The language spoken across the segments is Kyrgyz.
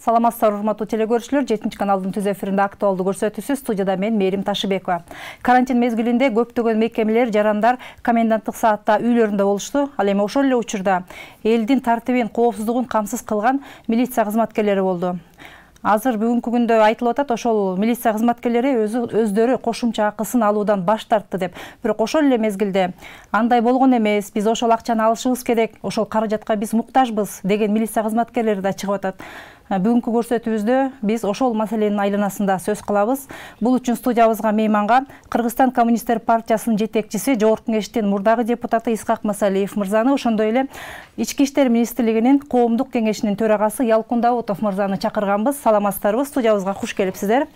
Саламатсыздар урматтуу телекөрүүчүлөр, 7 каналдын түз эфиринде актуалдуу көрсөтүүсү, студияда мен Мээрим Ташыбекова. Карантин мезгилинде көптөгөн мекемелер, жарандар коменданттык саатта үйлөрүндө болушту. Ал эми ошол эле учурда элдин тартибин, коопсуздугун камсыз кылган милиция кызматкерлери болду. Азыр бүгүнкү күндө айтылып атат, ошол милиция кызматкерлери өздөрү кошумча акысын алуудан баш тартты деп. Бирок ошол эле мезгилде андай болгон эмес, биз ошол акчаны алышыбыз керек, ошол каражатка биз муктажбыз деген милиция кызматкерлери да чыгып атат. Бүгүнкү көрсөтүүбүздө биз ошол маселенин айланасында сөз кылабыз. Бул үчүн студиябызга мейманга Кыргызстан Коммунисттер партиясынын жетекчиси, Жогорку Кеңештин мурдагы депутаты Исхак Масалиев мырзаны, ошондой эле Ички иштер министрлигинин коомдук кеңешинин төрагасы Ялкын Даутов мырзаны чакырганбыз. Саламатсыздарбы? Студиябызга куш келипсиздер.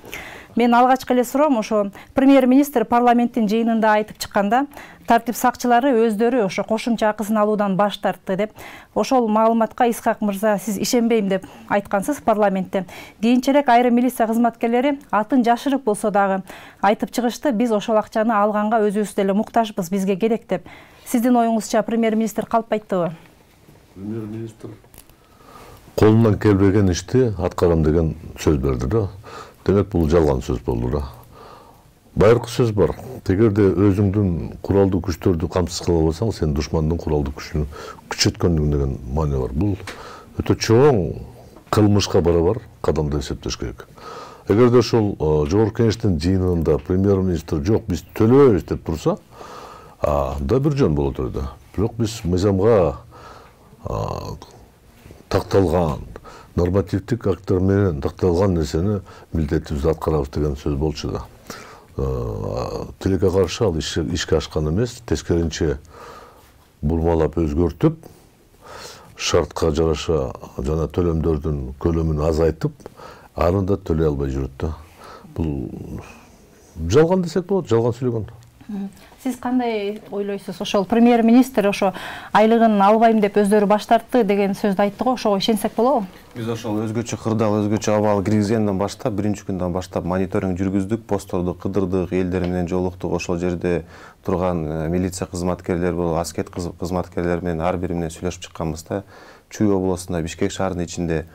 Мен алгачкы эле суроом, ошо премьер-министр парламенттин жыйынында айтып чыкканда, тартип сакчылары өздөрү ошо кошумча акысын алуудан баш тартты деп. Ошол маалыматка Исхак мырза сиз ишенбейм деп айткансыз парламентте. Кийинчерээк айрым милиция кызматкерлери атын жашырып болсо дагы айтып чыгышты, биз ошол акчаны алганга өзүбүз деле муктажбыз, бизге керек деп. Сиздин оюңузча премьер-министр калпайттыбы? Премьер-министр колунан келбеген ишти аткарам деген сөз берди да. Демек бул жалган сөз болду да. Байыркы сөз бар. Эгерде өзүңдүн куралдуу күчтөрдү камсыз кыла албасаң, сен душмандын куралдуу күчүн күчөткөндүң деген маани бар. Бул өтө чоң кылмышка барабар кадам деп эсептеш керек. Эгерде ошол Жогорку Кеңештин жыйынында премьер-министр жок, биз төлөбөйбүз деп турса, анда бир жөн болот эле. Бирок биз мыйзамга такталган нормативдик акттар менен такталган нерсени милдетибизди аткарабыз деген сөз болчу да. Тилекке каршы ал ишке ашкан эмес, тескеринче бурмалап өзгөртүп, шартка жараша жана төлөмдөрдүн көлөмүн азайтып, аны да төлөй албай жүрөт да. Бул жалган десек болот, жалган сүйлөгөн. Сиз кандай ойлойсуз? Ошол премьер-министр ошо айлыгын албайм деп өздөрү баш тартты деген сөздү айтты го, ошого ишенсек болобу? Биз ошол өзгөчө кырдаал, өзгөчө абал киргизгенден баштап, биринчи күндөн баштап мониторинг жүргүздүк, постторду кыдырдык, элдер менен жолуктук, ошол жерде турган милиция кызматкерлери болуп, аскер кызматкерлери менен ар бири менен сүйлөшүп чыкканбыз да. Чүй областында, Бишкек шаарынын ичинде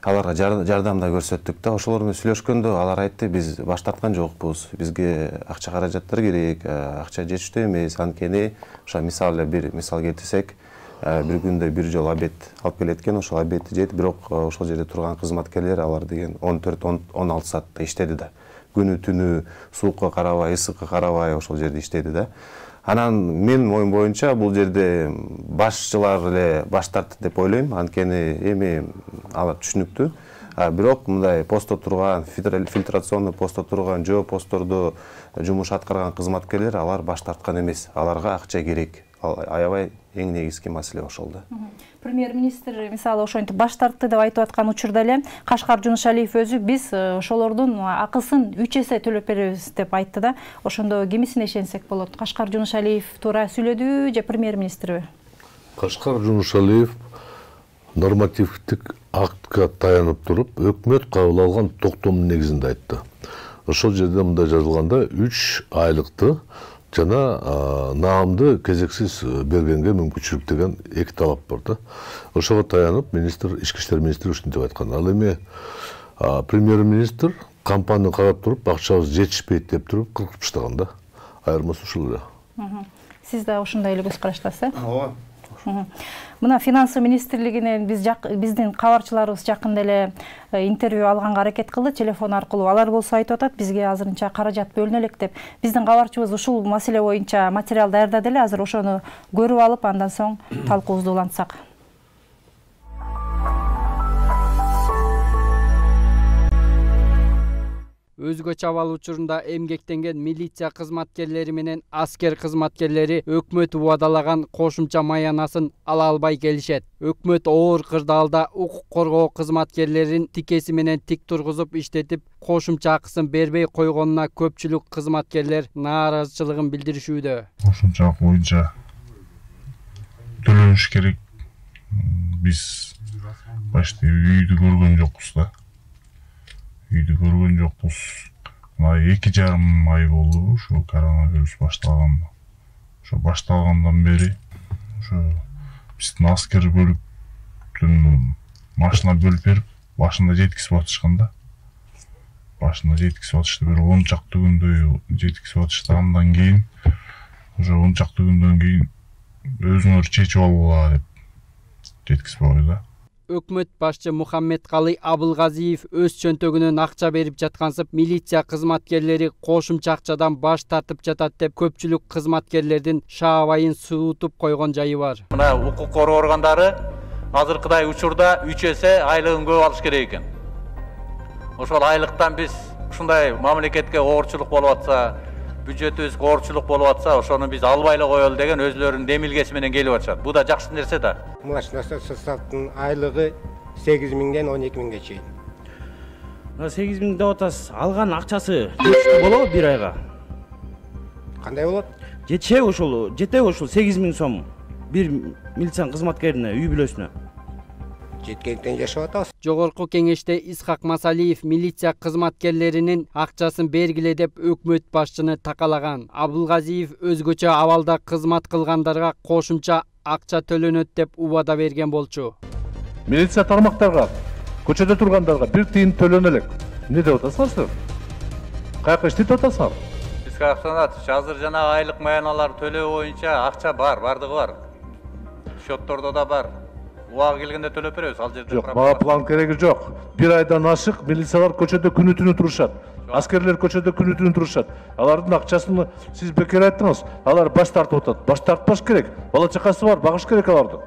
аларга жардам да көрсөттүк да. Ошолор менен сүйлөшкөндө алар айтты, биз баш тарткан жокпуз, бизге акча каражаттар керек, акча жетиштүү эмес. Анткени ошо бир мисал келтирсек, бир күндө бир жолу обед алып келет экен, ошол обедти жейт, бирок ошол жерде турган кызматкерлер алар деген 14-16 саатта иштеди да. Күнү түнү суукка карабай, ысыкка карабай ошол жерде иштеди да. Анан менин оюм боюнча бул жерде башчылар эле баш тартты деп ойлойм. Анткени эми алар түшүнүктүү. Бирок мындай постто турган, фильтрационный постто турган, жөө посттордо жумуш аткарган кызматкерлер алар баш тарткан эмес. Аларга акча керек. Аябай эң негизги маселе ошол да. Премьер-министр мисалы ошентип баш тартты деп айтып аткан учурда эле Кашкар Жунушалиев өзү биз ошолордун акысын 3 эсе төлөп беребиз деп айтты да. Ошондо кимисине ишенсек болот? Кашкар Жунушалиев туура сүйлөдүбү же премьер-министрби? Кашкар Жунушалиев нормативдик актка таянып туруп, өкмөт кабыл алган токтомдун негизинде айтты. Ошол жерде мындай жазылганда 3 айлыкты жана наамды кезексиз бергенге мүмкүнчүлүк деген 2 талап бар да. Ошого таянып министр, ички иштер министри ушинтип айткан. Ал эми премьер-министр компанияны карап туруп, акчабыз жетишпейт деп туруп кыркып таштаган да. Айырмасы ушул эле. Сиз да ошондой эле көз караштасыз, э? Ооба. Мына финансы министрлигинен биздин кабарчыларыбыз жакында эле интервью алганга аракет кылды телефон аркылуу. Алар болсо айтып атат, бизге азырынча каражат бөлүнө элек деп. Биздин кабарчыбыз ушул маселе боюнча материал даярдады эле, азыр ошону көрүп алып, андан соң талкуубузду улантсак. Өзгөчө абал учурунда эмгектенген милиция кызматкерлери менен аскер кызматкерлери өкмөт убадалаган кошумча маянасын ала албай келишет. Өкмөт оор кырдаалда укук коргоо кызматкерлерин тикеси менен тик тургузуп иштетип, кошумча акысын бербей койгонуна көпчүлүк кызматкерлер нааразычылыгын билдиришүүдө. Кошумча акы боюнча төлөнүш керек. Биз башта үйдү көргөн жокпуз да. Үйдү көргөн жокпуз. Мына 2,5 ай болду ушу коронавирус башталганда. Ошо башталгандан бери ошо биздин аскер бөлүктүн машина бөлүп берип, башында жеткизип атышкан да. Башында жеткизип атышты, бир 10 чакты күндөй жеткизип атышты. Андан кийин уже 10 чакты күндөн кийин өзүңөр чечип алгыла деп жеткизип койду. Өкмөт башчы Мухаммедкалый Абылгазиев өз чөнтөгүнөн акча берип жаткансып, милиция кызматкерлери кошумча акчадан баш тартып жатат деп көпчүлүк кызматкерлердин шаабайын суутуп койгон жайы бар. Мына укук коргоо органдары азыркыдай учурда 3 эсе айлыгын көп алыш керек экен. Ошол айлыктан биз ушундай мамлекетке оорчулук болуп атса, бюджетибизге оорчулук болуп атса, ошону биз албай эле коелу деген өзлөрүнүн демилгеси менен келип атышат. Бу да жакшы нерсе да. Млачный составдын айлыгы 8 миңден 12 миңге чейин. 8 миң деп атасыз, алган акчасы жетиштүү болобу бир айга? Кандай болот? Жетеби ошол 8 миң сом бир милиция кызматкерине, үй бүлөсүнө? Жеткенден жашап атабыз. Жогорку кеңеште Исхак Масалиев милиция кызматкерлеринин акчасын бергиле деп өкмөт башчыны такалаган. Абылгазиев өзгөчө абалда кызмат кылгандарга кошумча акча төлөнөт деп убада берген болчу. Милиция тармактарга, көчөдө тургандарга 1 тиын төлөнө элек. Эмне деп атасыңар? Каяка иштеп атасыңар? Исхак Санатович, азыр жана айлык маяналар төлөө боюнча акча бар, бардыгы бар. Счеттордо да бар. Убагы келгенде төлөп беребиз, ал жерде. Жок, мага план кереги жок. Бир айдан ашык милициялар көчөдө күнү-түнү турушат. Аскерлер көчөдө күнү-түнү турушат. Алардын акчасын сиз бекер айттыңыз. Алар баш тартып атат. Баш тартпаш керек. Бала чакасы бар, багыш керек аларды.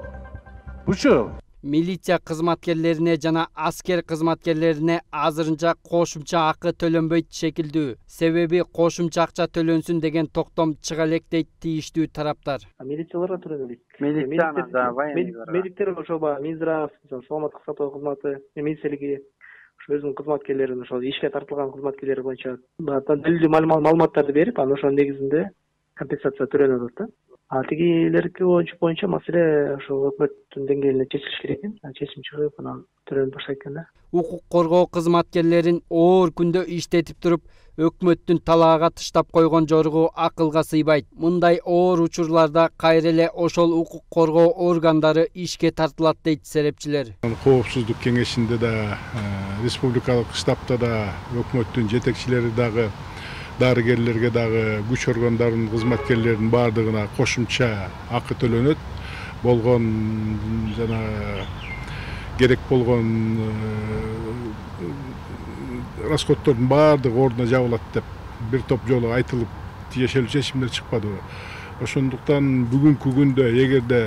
Бучу. Милиция кызматкерлерине жана аскер кызматкерлерине азырынча кошумча акы төлөнбөйт шекилдүү. Себеби кошумча акча төлөнсүн деген токтом чыга элек дейт тийиштүү тараптар. Милицияларга төлөнбөйт. Медиктер ошо Минздрав, саламаттык сактоо кызматы, министрлиги өзүнүн кызматкерлерин ошол ишке тартылган кызматкерлер боюнча далилдүү маалыматтарды берип, анан ошонун негизинде компенсация төлөнөт да. Тигилерки боюнча маселе ошо өкмөттүн деңгээлинде чечилиш керек экен. Чечим чыгып, анан төлөнүп баштайт экен да. Укук коргоо кызматкерлерин оор күндө иштетип туруп, өкмөттүн талаага тыштап койгон жоругу акылга сыйбайт. Мындай оор учурларда кайра эле ошол укук коргоо органдары ишке тартылат дейт серепчилер. Коопсуздук кеңешинде да, республикалык штабта да өкмөттүн жетекчилери дагы, дарыгерлерге дагы, күч органдарынын кызматкерлеринин баардыгына кошумча акы төлөнөт. Болгон жана керек болгон расходтордун баардыгы ордуна жабылат деп бир топ жолу айтылып, тиешелүү чечимдер чыкпады. Ошондуктан бүгүнкү күндө эгерде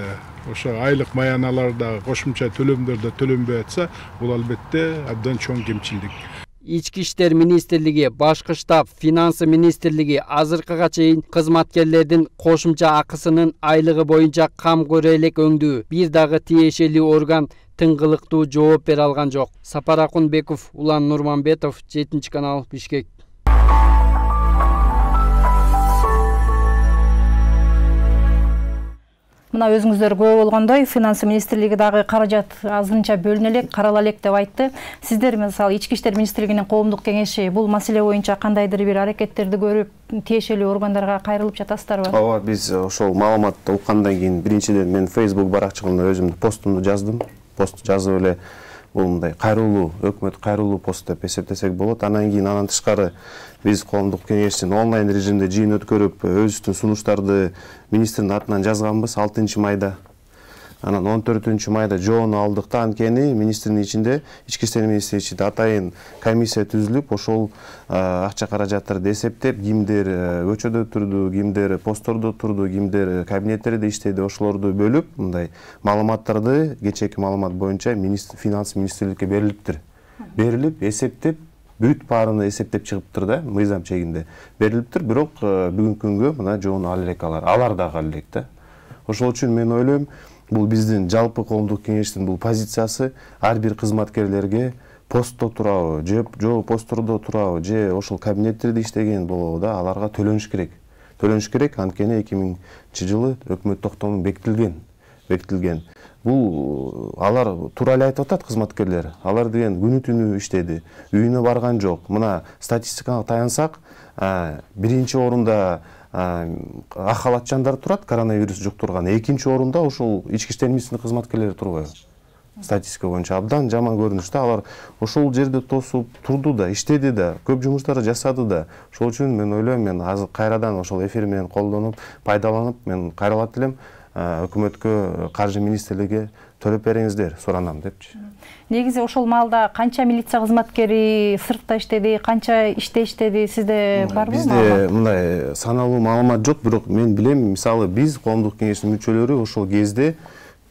ошо айлык маяналарда кошумча төлөмдөрдө төлөнбөй атса, бул албетте абдан чоң кемчилдик. Ички иштер министрлиги, башкы штаб, финансы министрлиги азыркыга чейин кызматкерлердин кошумча акысынын айлыгы боюнча кам көрө элек өңдүү. Бир дагы тиешелүү орган тыңгылыктуу жооп бере алган жок. Сапар Акунбеков, Улан Нурманбетов, 7 канал, Бишкек. Мына өзүңүздөр көрүп болгондой, финансы министрлиги дагы каражат азырынча бөлүнө элек, карала элек деп айтты. Сиздер мисалы Ички иштер министрлигинин коомдук кеңеши бул маселе боюнча кандайдыр бир аракеттерди көрүп, тиешелүү органдарга кайрылып жатасыздарбы? Ооба, биз ошол маалыматты уккандан кийин биринчиден мен Facebook баракчамда өзүмдүн постумду жаздым. Пост жазып эле бул мындай кайрылуу, өкмөт кайрылуу пост деп эсептесек болот. Анан кийин анан тышкары биз коомдук кеңештин онлайн режимде жыйын өткөрүп, өзүбүздүн сунуштарды министрдин атынан жазганбыз 6 майда. Анан 14 майда жоону алдык да, анткени министрдин ичинде, Ички иштер министринин ичинде атайын комиссия түзүлүп, ошол акча каражаттарды эсептеп, кимдер көчөдө турду, кимдер посттордо турду, кимдер кабинеттерде иштеди, ошолорду бөлүп, мындай маалыматтарды кечээки маалымат боюнча финанс министрликке берилиптир. Берилип, эсептеп, бүт баарыны эсептеп чыгыптыр да, мыйзам чегинде берилиптир, бирок бүгүнкү күнгө мына жоону ал элек алар дагы ал элек да. Ошол үчүн мен ойлойм, бул биздин жалпы коомдук кеңештин бул позициясы ар бир кызматкерлерге постто турабы, же посттордо турабы, же ошол кабинеттерде иштеген болобу да, аларга төлөнүш керек. Төлөнүш керек, анткени 2000 жылы өкмөт токтому бекитилген. Бул алар туура эле айтып атат кызматкерлер. Алар деген күнү-түнү иштеди, үйүнө барган жок. Мына статистикага таянсак, биринчи орунда ак халатчандар турат, коронавирус жуктурган. Экинчи орунда ошол Ички иштер министринин кызматкерлери турбайбы? Статистика боюнча абдан жаман көрүнүштө. Алар ошол жерде тосуп турду да, иштеди да, көп жумуштарды жасады да. Ошол үчүн мен ойлойм, мен азыр кайрадан ошол эфир менен колдонуп, пайдаланып, мен кайрылат элем өкмөткө, каржы министрлиgiге төлөп бериңиздер, суранам депчи. Негизи ошол маалда канча милиция кызматкери сыртта иштеди, канча иште иштеди, сизде барбы? Бизде мындай саналуу маалымат жок, бирок мен билем, мисалы биз коомдук кеңештин мүчөлөрү ошол кезде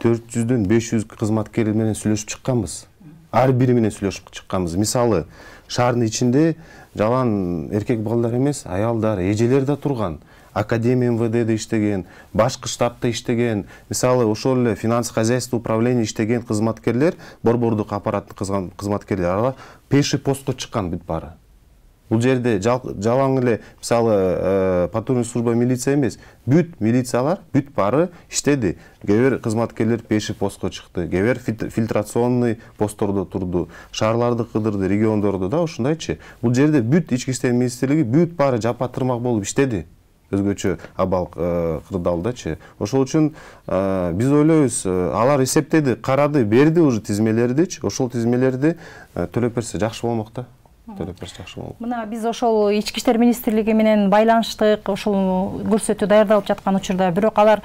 400дөн 500 кызматкер менен сүйлөшүп чыкканбыз. Ар бири менен сүйлөшүп чыкканбыз. Мисалы, шаардын ичинде жалаң эркек балдар эмес, аялдар, эжелер да турган. Академия МВДде иштеген, башкы штабта иштеген, мисалы ошол эле финанс хозяйство управление иштеген кызматкерлер, борбордук аппараттын кызматкерлер алар пеший постко чыккан бүт баары. Бул жерде жалаң эле мисалы патрульный служба милиция эмес, бүт милициялар бүт баары иштеди. Кээ бир кызматкерлер пеший постко чыкты, кээ бир фильтрационный посттордо турду, шаарларды кыдырды, региондордо да ушундайчы. Бул жерде бүт ички иштер министрлиги бүт баары жапа тырмак болуп иштеди. Өзгөчө абал кырдаалдачы. Ошол үчүн биз ойлойбуз, алар эсептеди, карады, берди уже тизмелердичи. Ошол тизмелерди төлөп берсе жакшы болмок да. Төлөп берсе жакшы болмок. Мына биз ошол ички иштер министрлиги менен байланыштык, ошол көрсөтүү даярдалып жаткан учурда, бирок алар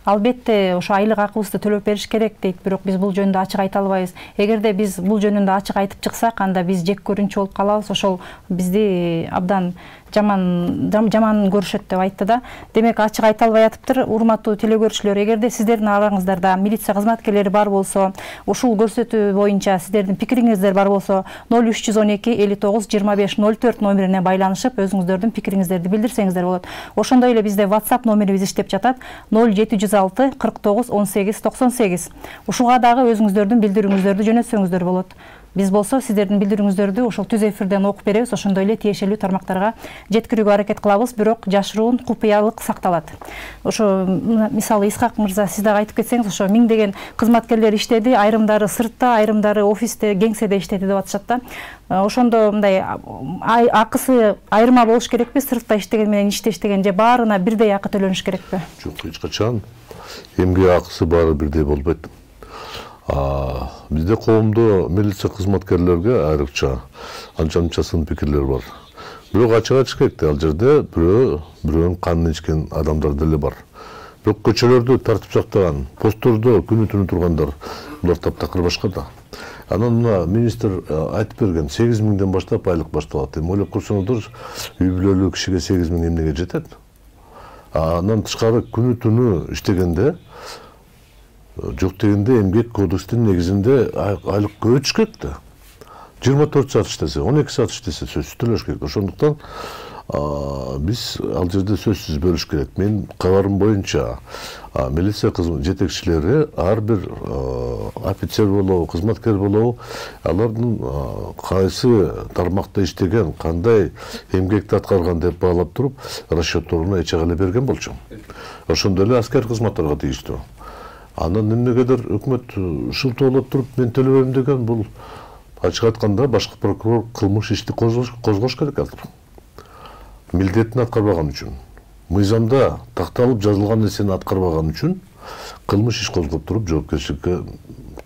албетте ошо айлык акыбызды төлөп бериш керек дейт, бирок биз бул жөнүндө ачык айта албайбыз. Эгерде биз бул жөнүндө ачык айтып чыксак, анда биз жек көрүнчү болуп калабыз. Ошол бизди абдан жаман көрүшөт деп айтты да. Демек ачык айта албай атыптыр. Урматтуу теле көрүүчүлөр, эгерде сиздердин араңыздарда милиция кызматкерлери бар болсо, ушул көрсөтүү боюнча сиздердин пикириңиздер бар болсо, 0312 59 25 04 номерине байланышып, өзүңүздөрдүн пикириңиздерди билдирсеңиздер болот. Ошондой эле бизде WhatsApp номерибиз иштеп жатат, 0706 49 18 98. Ушуга дагы өзүңүздөрдүн билдирүүңүздөрдү жөнөтсөңүздөр болот. Биз болсо сиздердин билдирүүңүздөрдү ошол түз эфирден окуп беребиз, ошондой эле тиешелүү тармактарга жеткирүүгө аракет кылабыз, бирок жашыруун купуялык сакталат. Ошо мисалы Исхак мырза, сиз дагы айтып кетсеңиз, ошо миңдеген кызматкерлер иштеди, айрымдары сыртта, айрымдары офисте, кеңседе иштеди деп атышат да. Ошондо мындай акысы айырма болуш керекпи? Сыртта иштеген менен ичте иштеген же баарына бирдей акы төлөнүш керекпи? Жок, эч качан эмгек акысы баары бирдей болбойт. Бизде коомдо милиция кызматкерлерге айрыкча анча сын пикирлер бар. Бирок ачык керек да, ал жерде бирөөнүн канын ичкен адамдар деле бар. Бирок көчөлөрдү тартип сактаган, посттордо күнү түнү тургандар, булар таптакыр башка да. Анан мына министр айтып берген, 8.000ден баштап айлык башталат. Эми ойлоп көрсөңүздөр, үй бүлөлүү кишиге 8.000 эмнеге жетет? Анан тышкары күнү түнү иштегенде, жок дегенде эмгек кодекстин негизинде айлык көбөйтүш керек да. 24 саат иштесе, 12 саат иштесе сөзсүз төлөш керек. Ошондуктан биз ал жерде сөзсүз бөлүш керек. Мен кабарым боюнча милиция жетекчилери ар бир офицер болобу, кызматкер болобу, алардын кайсы тармакта иштеген, кандай эмгекти аткарган деп баалап туруп, расчетторуна эч эле берген болчу. Ошондой эле аскер кызматтарга тийиштүү. Анан эмнегедир өкмөт шылтоолоп туруп мен төлөбөйм деген, бул ачык айтканда башкы прокурор кылмыш ишти козгош керек азыр. Милдетин аткарбаган үчүн, мыйзамда такталып жазылган нерсени аткарбаган үчүн кылмыш иш козгоп туруп жоопкерчиликке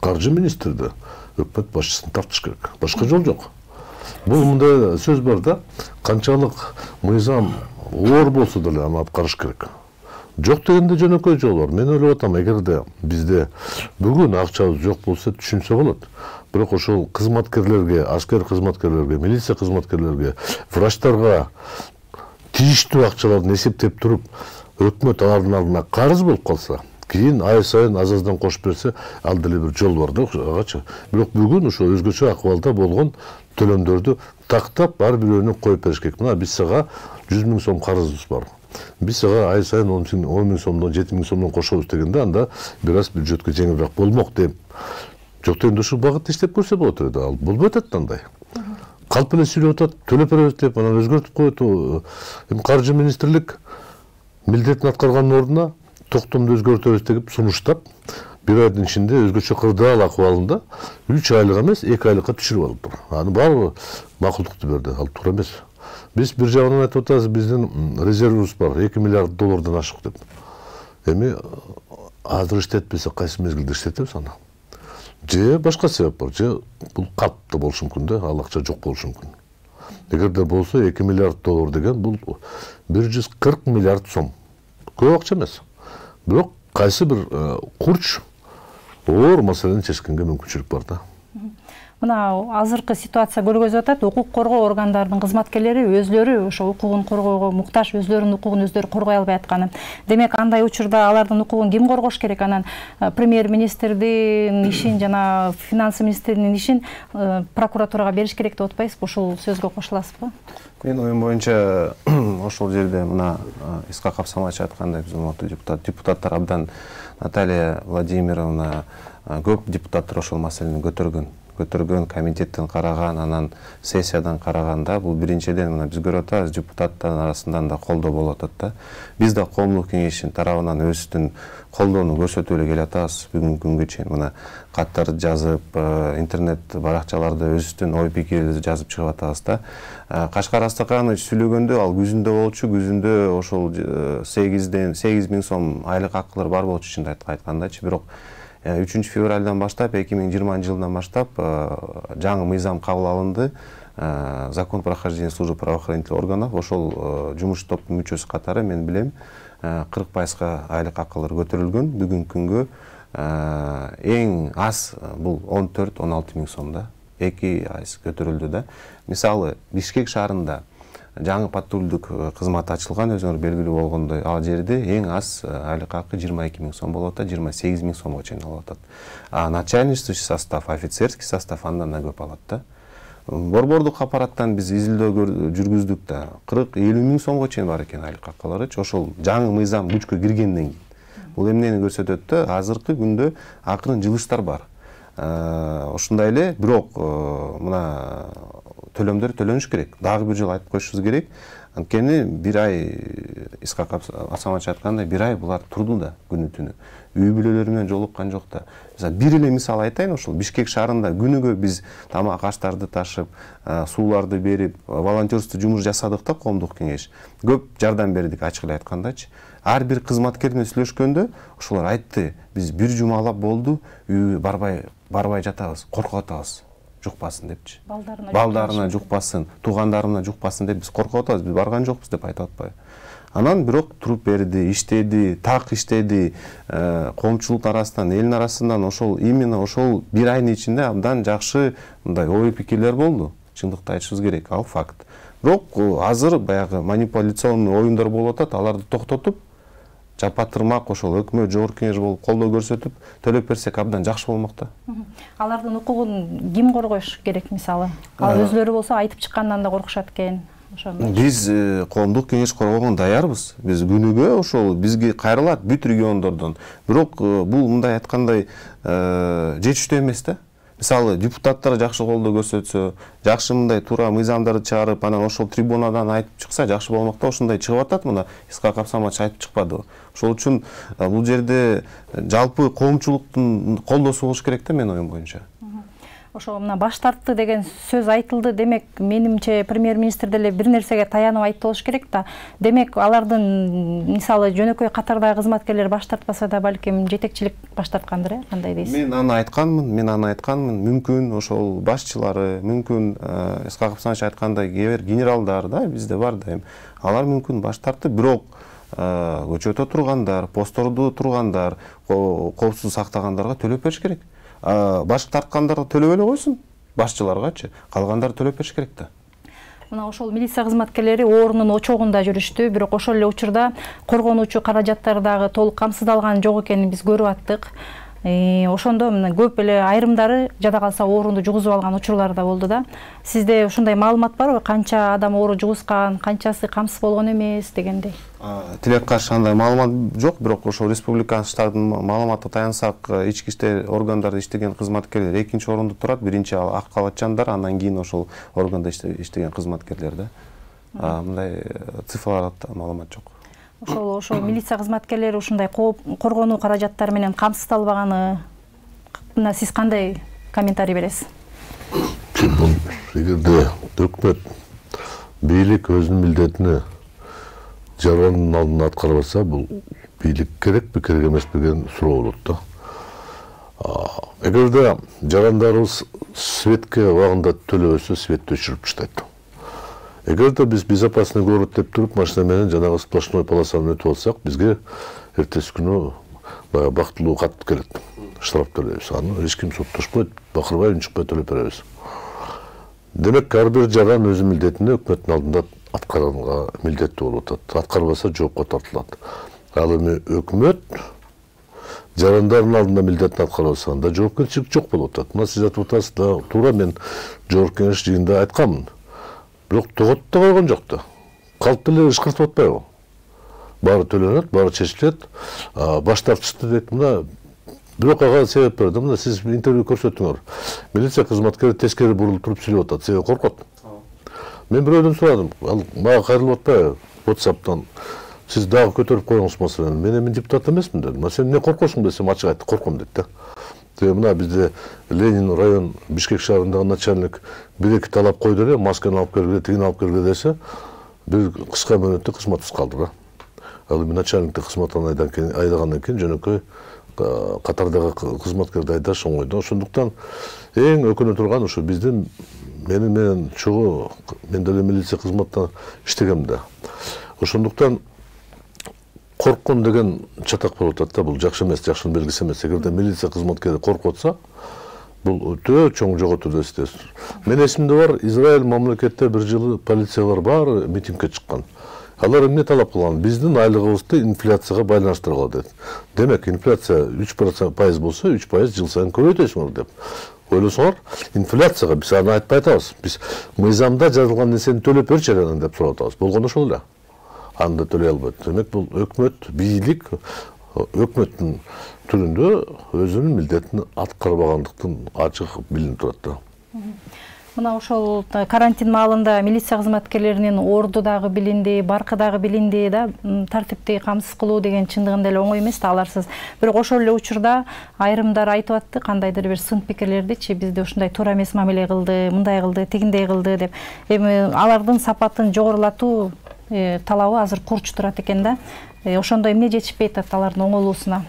каржы министрди, өкмөт башчысын тартыш керек. Башка жол жок. Бул мындай сөз бар да, канчалык мыйзам оор болсо деле аны аткарыш керек. Жок дегенде жөнөкөй жол бар. Мен ойлоп атам, эгерде бизде бүгүн акчабыз жок болсо түшүнсө болот. Бирок ошол кызматкерлерге, аскер кызматкерлерге, милиция кызматкерлерге, врачтарга тийиштүү акчаларды эсептеп туруп, өкмөт алардын алдына карыз болуп калса, кийин ай сайын аз-аздан кошуп берсе, ал деле бир жол бар да, агачы. Бирок бүгүн ошо өзгөчө акыбалда болгон төлөмдөрдү тактап ар бирөөнү коюп бериш керек. Мына биз сага 100 000 сом карызыбыз бар. Биз сага ай сайын 10 000 сомдон, 7 000 сомдон кошобуз дегенде, анда бир аз бюджетке жеңилирээк болмок деп. Жок дегенде ушул багытта иштеп көрсө болот эле. Ал болбой атат андай. Калп эле сүйлөп атат, төлөп беребиз деп, анан өзгөртүп коет. Эми каржы министрлик милдетин аткарганын ордуна токтомду өзгөртөбүз деп сунуштап, бир айдын ичинде өзгөчө кырдаал акыбалында 3 айлык эмес, 2 айлыкка түшүрүп алыптыр. Аны баары макулдукту берди, ал туура эмес. Биз бир жагынан айтып атабыз, биздин резервибиз бар, $2 миллиард ашык деп. Эми азыр иштетпесе кайсы мезгилде иштетебиз аны? же башка себеп бар, же бул катты болушу мүмкүн да, ал акча жок болушу мүмкүн. Эгерде болсо 2 миллиард доллар деген бул 140 миллиард сом. Көп акча эмес. Бирок кайсы бир курч оор маселени чечкенге мүмкүнчүлүк бар да. Мына азыркы ситуация көргөзүп атат, укук коргоо органдарынын кызматкерлери өзлөрү ошо укугун коргоого муктаж, өзлөрүнүн укугун өзлөрү коргой албай атканы. Демек, андай учурда алардын укугун ким коргош керек? Анан премьер-министрдин ишин жана финансы министринин ишин прокуратурага бериш керек деп атпайсызбы? Ушул сөзгө кошуласызбы? Менин оюм боюнча ошол жерде мына Исхак Абсаматович айткандай, биз депутаттар абдан, Наталья Владимировна, көп депутаттар ошол маселени көтөргөн, комитеттен караган, анан сессиядан караганда, бул биринчиден мына биз көрүп атабыз, депутаттардын арасынан да колдоо болуп атат да. Биз да коомдук кеңештин тарабынан өзүбүздүн колдоону көрсөтүп эле келатабыз бүгүнкү күнгө чейин. Мына каттарды жазып, интернет баракчаларда өзүбүздүн ой пикирибизди жазып чыгып атабыз да. Кашкар Астаканович сүйлөгөндө ал күзүндө болчу, күзүндө ошол 8.000 сом айлык акылар бар болчу чын айткандачы. Бирок 3 февралдан баштап, 2020 жылдан баштап жаңы мыйзам кабыл алынды. Закон прохождения службы правоохранительных органов, ошол жумуш топтун мүчөсү катары мен билем 40%га айлык акылар көтөрүлгөн. Бүгүнкү күнгө эң аз бул 14-16 миң сом да. 2 айс көтөрүлдү да. Мисалы, Бишкек шаарында жаңы патрулдук кызмат ачылган, өзүңөр белгилүү болгондой, ал жерде эң аз айлык акы 22 миң сом болуп атат, 28 миң сомго чейин алып атат. Начальничный состав, офицерский состав андан да көп алат да. Борбордук аппараттан биз изилдөө жүргүздүк да, 40-50 миң сомго чейин бар экен айлык акылары. Ошол жаңы мыйзам күчкө киргенден кийин. Бул эмнени көрсөтөт да, азыркы күндө акырын жылыштар бар. Ошондой эле, бирок мына төлөмдөр төлөнүш керек. Дагы бир жолу айтып коюшубуз керек. Анткени бир ай, Исхак Абсаматович айткандай, бир ай булар турду да күнү түнү. Үй бүлөлөрү менен жолуккан жок да. Бир эле мисал айтайын, ошол Бишкек шаарында күнүгө биз тамак аштарды ташып, сууларды берип, волонтерство жумуш жасадык да, коомдук кеңеш. Көп жардам бердик, ачык эле айткандачы. Ар бир кызматкер менен сүйлөшкөндө ошолор айтты, биз бир жумалап болду, үйгө барбай жатабыз, коркуп атабыз. Жукпасын депчи. Балдарына жукпасын, туугандарына жукпасын деп биз коркуп атабыз, биз барган жокпуз деп айтып атпайбы. Анан бирок туруп берди, иштеди, так иштеди, коомчулук арасынан, элдин арасынан именно ошол бир айдын ичинде абдан жакшы мындай ой пикирлер болду. Чындыкты айтышыбыз керек, ал факт. Бирок азыр баягы манипуляционный оюндар болуп атат, аларды токтотуп, жапатырмак ошол өкмөт, жогорку кеңеш болуп колдоо көрсөтүп, төлөп берсек абдан жакшы болмок да. Алардын укугун ким коргош керек, мисалы? Ал өзлөрү болсо айтып чыккандан да коркушат экен. Биз коомдук кеңеш коргоого даярбыз. Биз күнүгө ошол бизге кайрылат бүт региондордон. Бирок бул мындай айткандай жетиштүү эмес да. Мисалы, депутаттар жакшы колдоо көрсөтсө, жакшы мындай туура мыйзамдарды чыгарып, анан ошол трибунадан айтып чыкса жакшы болмок да. Ошондой чыгып атат, мына Исхак Абсаматович айтып чыкпадыбы. Ошол үчүн бул жерде жалпы коомчулуктун колдоосу болуш керек да, менин оюм боюнча. Ошо мына баш тартты деген сөз айтылды. Демек, менимче премьер-министр деле бир нерсеге таянып айтып болуш керек да. Демек, алардын мисалы жөнөкөй катардагы кызматкерлер баш тартпаса да балким жетекчилик баш тарткандыр, кандай дейсиз? Мен аны айтканмын. Мүмкүн ошол башчылары, мүмкүн Исхак Абсаматович айткандай генералдар да, бизде бар дайым. Алар мүмкүн баш тартты, бирок көчөтө тургандар, посттордо тургандар, коопсуздук сактагандарга төлөп бериш керек. Баш тарткандарга төлөп эле койсун, башчыларгачы, калгандары төлөп бериш керек да. Мына ошол милиция кызматкерлери оорунун очогунда жүрүштү, бирок ошол эле учурда коргонуучу каражаттар дагы толук камсыздалган жок экенин биз көрүп аттык. Ошондо мына көп эле айрымдары жада калса ооруну жугузуп алган учурлар да болду да. Сизде ушундай маалымат барбы? Канча адам оору жугузган, канчасы камсыз болгон эмес дегендей? Тилекке каршы андай маалымат жок, бирок ошол республиканын штабын маалыматына таянсак, ички иштер органдарда иштеген кызматкерлер экинчи орунда турат. Биринчи ак калачандар, андан кийин ошол органда иштеген кызматкерлер да. Мындай цифрларда маалымат жок. Ошол милиция кызматкерлери ушундай коргонуу каражаттары менен камсыздалбаганы мына сиз кандай комментарий бересиз? Эгерде өкмөт бийлик өзүнүн милдетини жарандын алдында аткарбаса, бул бийлик керекпи, керек эмеспи деген суроо болот да. Эгерде жарандарыбыз светке убагында төлөбөсө, светти өчүрүп таштайт. Эгерде биз безопасный город деп туруп машина менен жанагы сплошной полосаны өтүп алсак, бизге эртеси күнү баягы бактылуу кат келет. Штраф төлөйбүз. Аны эч ким соттошпойт, бакырбай унчукпай төлөп беребиз. Демек, ар бир жаран өзү милдетин өкмөттүн алдында аткарганга милдеттүү болуп атат. Аткарбаса жоопко тартылат. Ал эми өкмөт жарандардын алдында милдетин аткарбаса, анда жоопкерчилик жок болуп атат. Мына сиз айтып атасыз да, туура мен жогорку кеңеш жыйынында айтканмын. Бирок тоготуп да койгон жок да. Калп эле ышкыртып атпайбы? Баары төлөнөт, баары чечилет. Баш тартышты дейт. Мына бирок ага себеп берди. Мына сиз интервью көрсөттүңөр. Милиция кызматкери тескери бурулуп туруп сүйлөп атат. Себеби коркот. Мен бирөөдөн сурадым. Ал мага кайрылып атпайбы? WhatsApp'тан сиз дагы көтөрүп коюңуз маселени. Мен эми депутат эмесмин дедим. Сен эмне коркосуң десем, ачык айтты, корком дейт да. Мына бизде Ленин район Бишкек шаарындагы начальник бир-эки талап койду эле, масканы алып келгиле, тигини алып келгиле десе, бир кыска мөөнөттө кызматсыз калды да. Ал эми начальникти кызматтан айдагандан кийин жөнөкөй катардагы кызматкерди айдаш оңой да. Ошондуктан эң өкүнө турган ушу биздин менен чогуу мен деле милиция кызматта иштегем да. Ошондуктан корккон деген чатак болуп атат да, бул жакшы эмес, жакшынын белгиси эмес. Эгерде милиция кызматкери коркуп атса, бул өтө чоң жоготуу да эстес. Мен эсимде бар, Израиль мамлекетте бир жылы полициялар баары митингге чыккан. Алар эмне талап кылган? Биздин айлыгыбызды инфляцияга байланыштыргыла дейт. Демек, инфляция 3% болсо, 3% жыл сайын көбөйтөсүңөр деп. Ойлосоңор, инфляцияга биз аны айтпай атабыз. Биз мыйзамда жазылган нерсени төлөп берчи анан деп сурап атабыз. Болгону ошол эле. Анда төлөй албайт. Демек, бул өкмөт, бийлик өкмөттүн түрүндө өзүнүн милдетин аткарбагандыктын ачык билинип турат да. Мына ошол карантин маалында милиция кызматкерлеринин орду дагы билинди, баркы дагы билинди да, тартипти камсыз кылуу деген чындыгында эле оңой эмес да, аларсыз. Бирок ошол эле учурда айрымдар айтып атты, кандайдыр бир сын пикирлердичи, бизде ушундай туура эмес мамиле кылды, мындай кылды, тигиндей кылды деп. Эми алардын сапатын жогорулатуу талабы азыр курч турат экен да. Ошондо эмне жетишпей атат алардын оңолуусуна?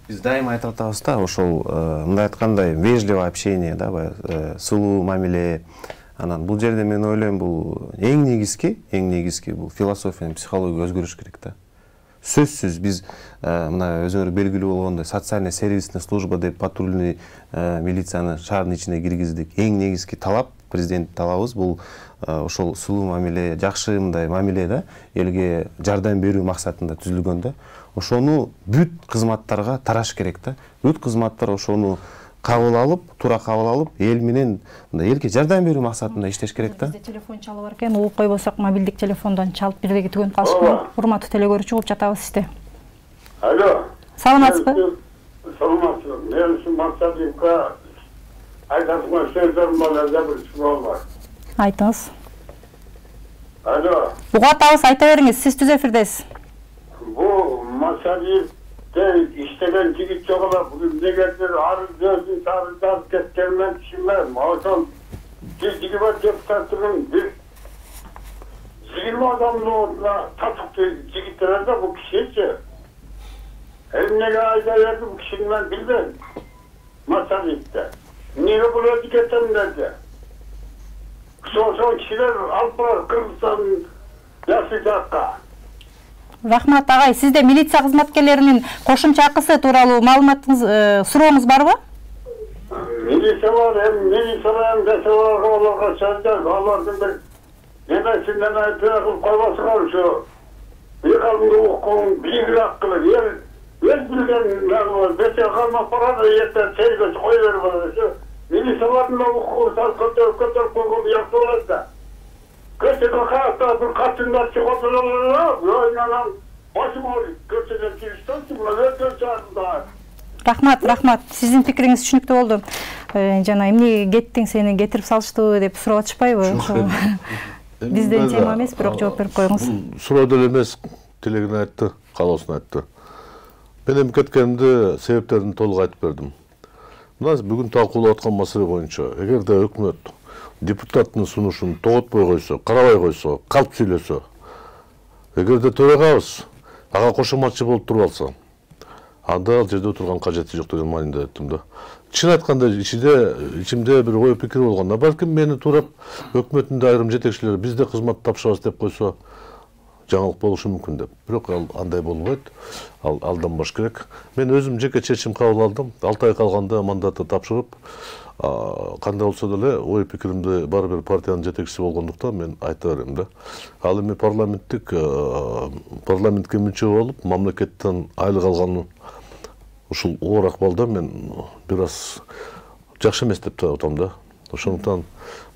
Биз дайыма айтып атабыз да, ошол мындай айткандай вежливое общение, да, сулуу мамиле. Анан бул жерде мен ойлойм, бул эң негизги бул философиянын психология өзгөрүш керек да. Сөзсүз биз мына өзүңөр белгилүү болгондой социальный сервисный служба деп патрульный милицияны шаардын ичине киргиздик. Эң негизги талап, президент талабыбыз бул ошол сулуу мамиле, жакшы мындай мамиле да, элге жардам берүү максатында түзүлгөн да. Ошону бүт кызматтарга тараш керек да. Бүт кызматтар ошону кабыл алып, туура кабыл алып, эл менен элге жардам берүү максатында иштеш керек да. Бизде телефон чалып бар экен, угуп койбосок мобилдик телефондон чалып бирдеги түгөнүп калышпайбы? Урматтуу телегөрүүчү, угуп жатабыз сизди. Алло. Саламатсызбы? Саламатсызбы. Мен ушул максатка айтасыңар сөздөрүм бар, бир суал бар. Айтыңыз. Алло. Угуп атабыз, айта бериңиз, сиз түз эфирдесиз. Бу Масалиевде иштеген жигит жок эле, бүгүн негедир арыз жазып кеткенмен түшүнбөйм. Ошол жигит депутаттын бир 20 адамдын ордуна татыктуу жигиттер да, бул кишичи. Эмнеге айда берди бу кишини мен билбейм. Масалиевде. Эмнеге бул өзү кетем деди. Ошол кишилер алып барып Кыргызстан жакшы жакка. Рахмат агай, сизде милиция кызматкерлеринин кошумча акысы тууралуу маалыматыңыз, сурооңуз барбы? Милициялар оларга сөздөр, алардын бир немесинден айтып койбосуңар ушу. Биркалымды укуң, бийигирээк кылып, өз билген бете калмап барады, эртең сейгөч кой берип барады. Милициялардын да укугун көтөрүп койгон жакшы болот да. Көчөдө каякта бир катындар чыгып отурат, башым ауырып, көчөдөн чыгыштан өтө чыгат. Рахмат. Сиздин пикириңиз түшүнүктүү болду. Жана эмне кеттиң, сени кетирип салыштыбы деп сурап атышпайбы? Бизден тема эмес, бирок жооп берип коюңуз. Суроо деле эмес, тилегин айтты, каалоосун айтты. Мен эми кеткенимде себептерин толук айтып бердим. Мына бүгүн талкуулап аткан маселе боюнча, эгерде өкмөт депутаттын сунушун тоготпой койсо, карабай койсо, калп сүйлөсө, эгерде төрагабыз ага кошоматчы болуп туруп алса, анда ал жерде отурган кажети жок деген мааниде айттым да. Чын айтканда ичимде бир ой пикир болгон. Балким мени туурап өкмөттүн айрым жетекчилери бизде кызмат тапшырабыз деп койсо жаңылык болушу мүмкүн деп. Бирок ал андай болбойт. Ал алданбаш керек. Мен өзүм жеке чечим кабыл алдым. 6 ай калганда мандатты тапшырып, кандай болсо деле ой пикиримди бар бир партиянын жетекчиси болгондуктан мен айта берем да. Ал эми парламентке мүчө болуп, мамлекеттен айлык алган ушул оор акыбалда мен бир аз жакшы эмес деп атам да. Ошондуктан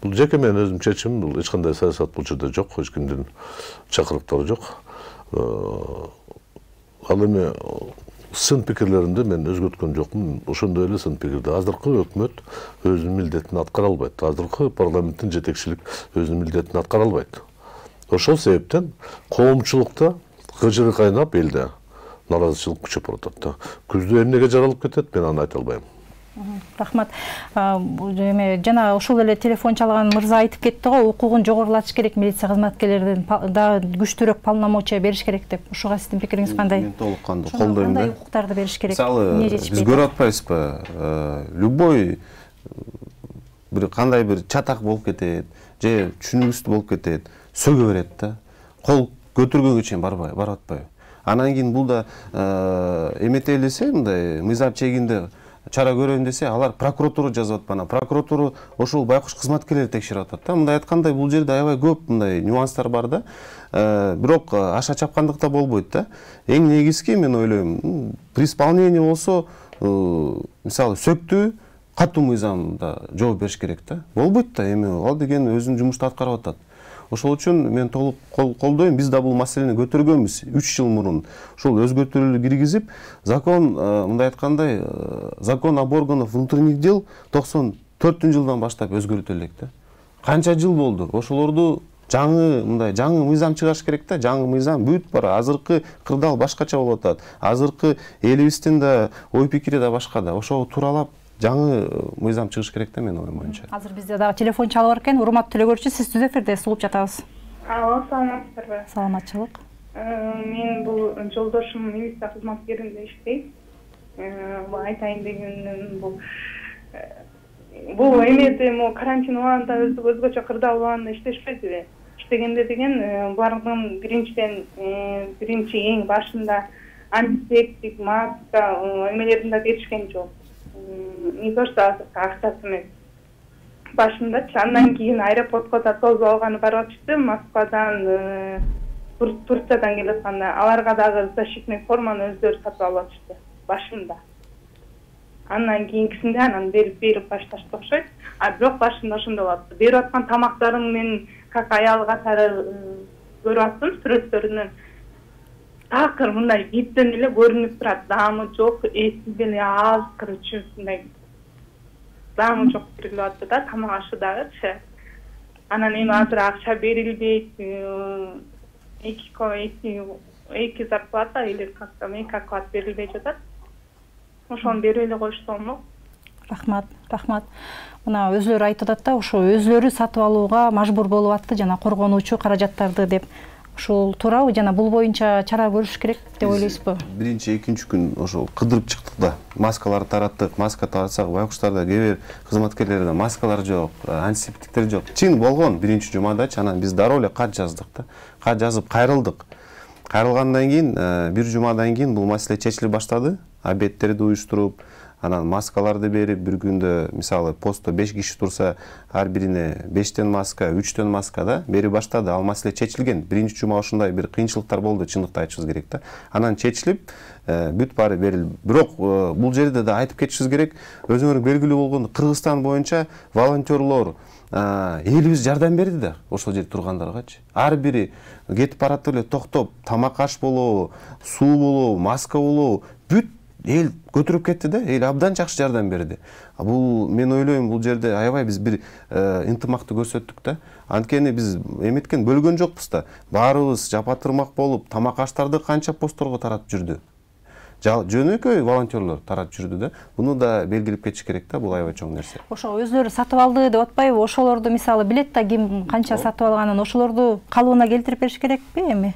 бул жеке менин өзүм чечимим, бул эч кандай саясат бул жерде жок, эч кимдин чакырыктары жок. Ал эми сын пикирлеримди мен өзгөрткөн жокмун. Ошондой эле сын пикирди азыркы өкмөт өзүнүн милдетин аткара албайт. Азыркы парламенттин жетекчилик өзүнүн милдетин аткара албайт. Ошол себептен коомчулукта кыжыры кайнап элде наразычылык күчөп баратат да. Күздө эмнеге жаралып кетет, мен аны айта албайм. Рахмат. Жана ошол эле телефон чалган мырза айтып кетти го, укугун жогорулатыш керек, милиция кызматкерлердин да күчтүүрөөк полномочия бериш керек деп. Ошого сиздин пикириңиз кандай? Мен толук кандуу колдойм да. Кандай укуктарды бериш керек? Мисалы, биз көрүп атпайбызбы? Любой бир кандай бир чатак болуп кетет, же түшүнүксүз болуп кетет, сөгө берет да. Кол көтөргөнгө чейин барып атпайбы? Анан кийин бул да эмете элесе, мындай мыйзам чегинде чара көрөйүн десе, алар прокуратура жазып атпана. Прокуратура ошол байкуш кызматкерлерди текшерип атат да. Мындай айткандай бул жерде аябай көп мындай нюанстар бар да. Бирок аша чапкандык да болбойт да. Эң негизги мен ойлойм, при исполнении болсо, мисалы сөктү катуу мыйзамда жооп бериш керек да. Болбойт да, эми ал деген өзүнүн жумушту аткарып атат. Ошол үчүн мен толук колдойм. Биз да бул маселени көтөргөнбүз 3 жыл мурун. Ошол өзгөртүүлөр киргизип, закон, мындай айткандай, закон об органах внутренних дел 94-жылдан баштап өзгөртүлө элек да. Канча жыл болду? Ошолорду жаңы мыйзам чыгарыш керек да. Жаңы мыйзам бүт бар. Азыркы кырдаал башкача болуп атат. Азыркы элибиздин да ой пикири да башка да. Ошого тууралап жаңы мыйзам чыгыш керек да, менин оюм боюнча. Азыр бизде дагы телефон чалып бар экен. Урматтуу телекөрүүчү, сиз түз эфирдесиз, угуп жатабыз. Алло, саламатсыздарбы? Саламатчылык. Мен бул жолдошум милиция кызматкеринде иштейт. Айтайын дегеним бул эмеде карантин убагында өзгөчө кырдаал убагында иштешпедиби? Иштегенде деген булардын биринчи эң башында антисептик, маска эмелерин да беришкен жок. Не то что акчасы эмес. Башындачы, андан кийин аэропортко да тосуп алганы барып атышты, Москвадан, Турциядан келатканда, аларга дагы защитный форманы өздөрү сатып алып атышты башында. Андан кийинкисинде анан берип башташты окшойт. Бирок башында ошондой болуп атты. Берип аткан тамактарын мен как аял катары көрүп аттым сүрөттөрүнөн. Такыр мындай биттен эле көрүнүп турат, даамы жок, эсиз эле аз, короче, мындай даамы жок берилип атты да, тамак ашы дагычы. Анан эми азыр акча берилбейт, эки зарплата или как-то эки оклад берилбей жатат. Ошону берип эле коюшса болмок. Рахмат. Мына өзлөрү айтып атат да, ошо өзлөрү сатып алууга мажбур болуп атты жана коргонуучу каражаттарды деп. Ушул туурабы, жана бул боюнча чара көрүш керек деп ойлойсузбу? Биринчи, экинчи күн ошол кыдырып чыктык да. Маскаларды тараттык. Маска таратсак, байкуштарда кээ бир кызматкерлерде маскалар жок, антисептиктер жок. Чын болгон биринчи жумадачы, анан биз дароо эле кат жаздык да. Кат жазып кайрылдык. Кайрылгандан кийин бир жумадан кийин бул маселе чечиле баштады. Обедтерди уюштуруп, анан маскаларды берип, бир күндө мисалы постто 5 киши турса, ар бирине 5тен маска, 3тен маска да берип баштады. Ал маселе чечилген. Биринчи жума ошондой бир кыйынчылыктар болду, чындыкты айтышыбыз керек да. Анан чечилип, бүт баары берилди. Бирок бул жерде да айтып кетишибиз керек, өзүңөр белгилүү болгондо Кыргызстан боюнча волонтерлор элибиз жардам берди да, ошол жерде тургандаргачы. Ар бири кетип баратып эле токтоп, тамак аш болобу, суу болобу, маска болобу, бүт эл көтөрүп кетти да, эл абдан жакшы жардам берди. Бул мен ойлойм, бул жерде аябай биз бир ынтымакты көрсөттүк да. Анткени биз эметкен бөлгөн жокпуз да. Баарыбыз жапатырмак болуп, тамак аштарды канча постторго таратып жүрдү. Жөнөкөй волонтерлор таратып жүрдү да. Буну да белгилеп кетиш керек да, бул аябай чоң нерсе. Ошо өзлөрү сатып алды деп атпайбы? Ошолорду мисалы билет да, ким канча сатып алганын, ошолорду калыбына келтирип бериш керекпи эми?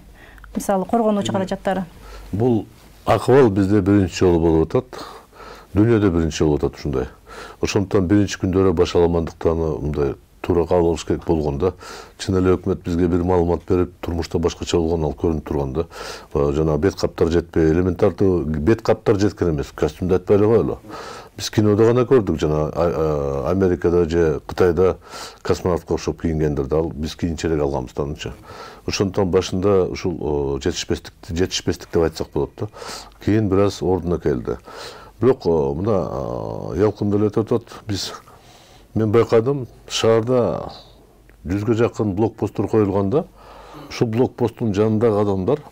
Мисалы коргонуучу каражаттары. Бул Акыбал бизде биринчи жолу болуп атат. Дүйнөдө биринчи жолу болуп атат ушундай. Ошондуктан биринчи күндөрү башаламандыктан мындай туура кабыл алыш керек болгондо, чын эле өкмөт бизге бир маалымат берип, турмушта башкача болгон ал көрүнүп турганда, жана бет каптар жетпей, элементардуу бет каптар жеткен эмес, костюмду айтпай эле коелу. Биз кинодо гана көрдүк, жана Америкада же Кытайда космонавтка окшоп кийингендерди, ал биз кийинчерээк алганбыз таанычы. Ошондуктан башында ушул жетишпестик деп айтсак болот да. Кийин бир аз ордуна келди. Бирок мына ялкын эле өтөт. Мен байкадым, шаарда 100ге жакын блокпосттор коюлганда, ушул блокпосттун жанындагы адамдар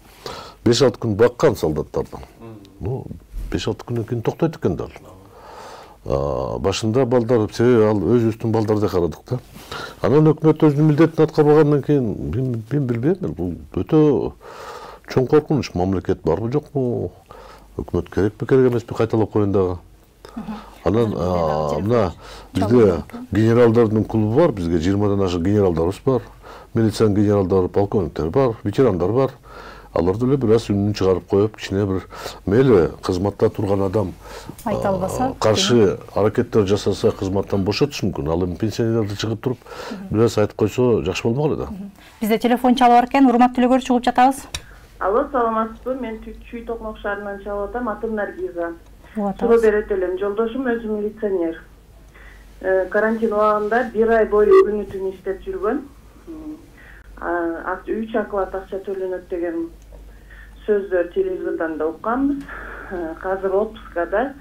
5-6 күн баккан солдаттарды. 5-6 күндөн кийин токтойт экен да. Башында балдар, себеби ал өзүбүздүн балдарды карадык да. Анан өкмөт өзүнүн милдетин аткарбагандан кийин мен билбейм, бул өтө чоң коркунуч. Мамлекет барбы жокпу? Өкмөт керекпи, керек эмеспи, кайталап коеюн дагы. Анан мына бизде генералдардын клубу бар, бизге 20-дан ашык генералдарыбыз бар, милициянын генералдары, полковниктер бар, ветерандар бар. Аларды эле бир аз үнүн чыгарып коюп, кичине бир мейли кызматта турган адам айта албаса, каршы аракеттер жасаса кызматтан бошотуш мүмкүн. Ал эми пенсионерлерди чыгып туруп бир аз айтып койсо жакшы болмок эле да. Бизде телефон чалып бар экен, урматтуу төлөгөр, чыгып жатабыз. Алло, саламатсызбы? Мен Чүй Токмок шаарынан чалып атам, атым Наргиза. Суроо берет элем. Жолдошум өзү милиционер. Карантин убагында 1 ай бою күнү түнү иштеп жүргөн. 3 оклад акча төлөнөт деген сөздөр телевизордон да укканбыз. Азыр отпускада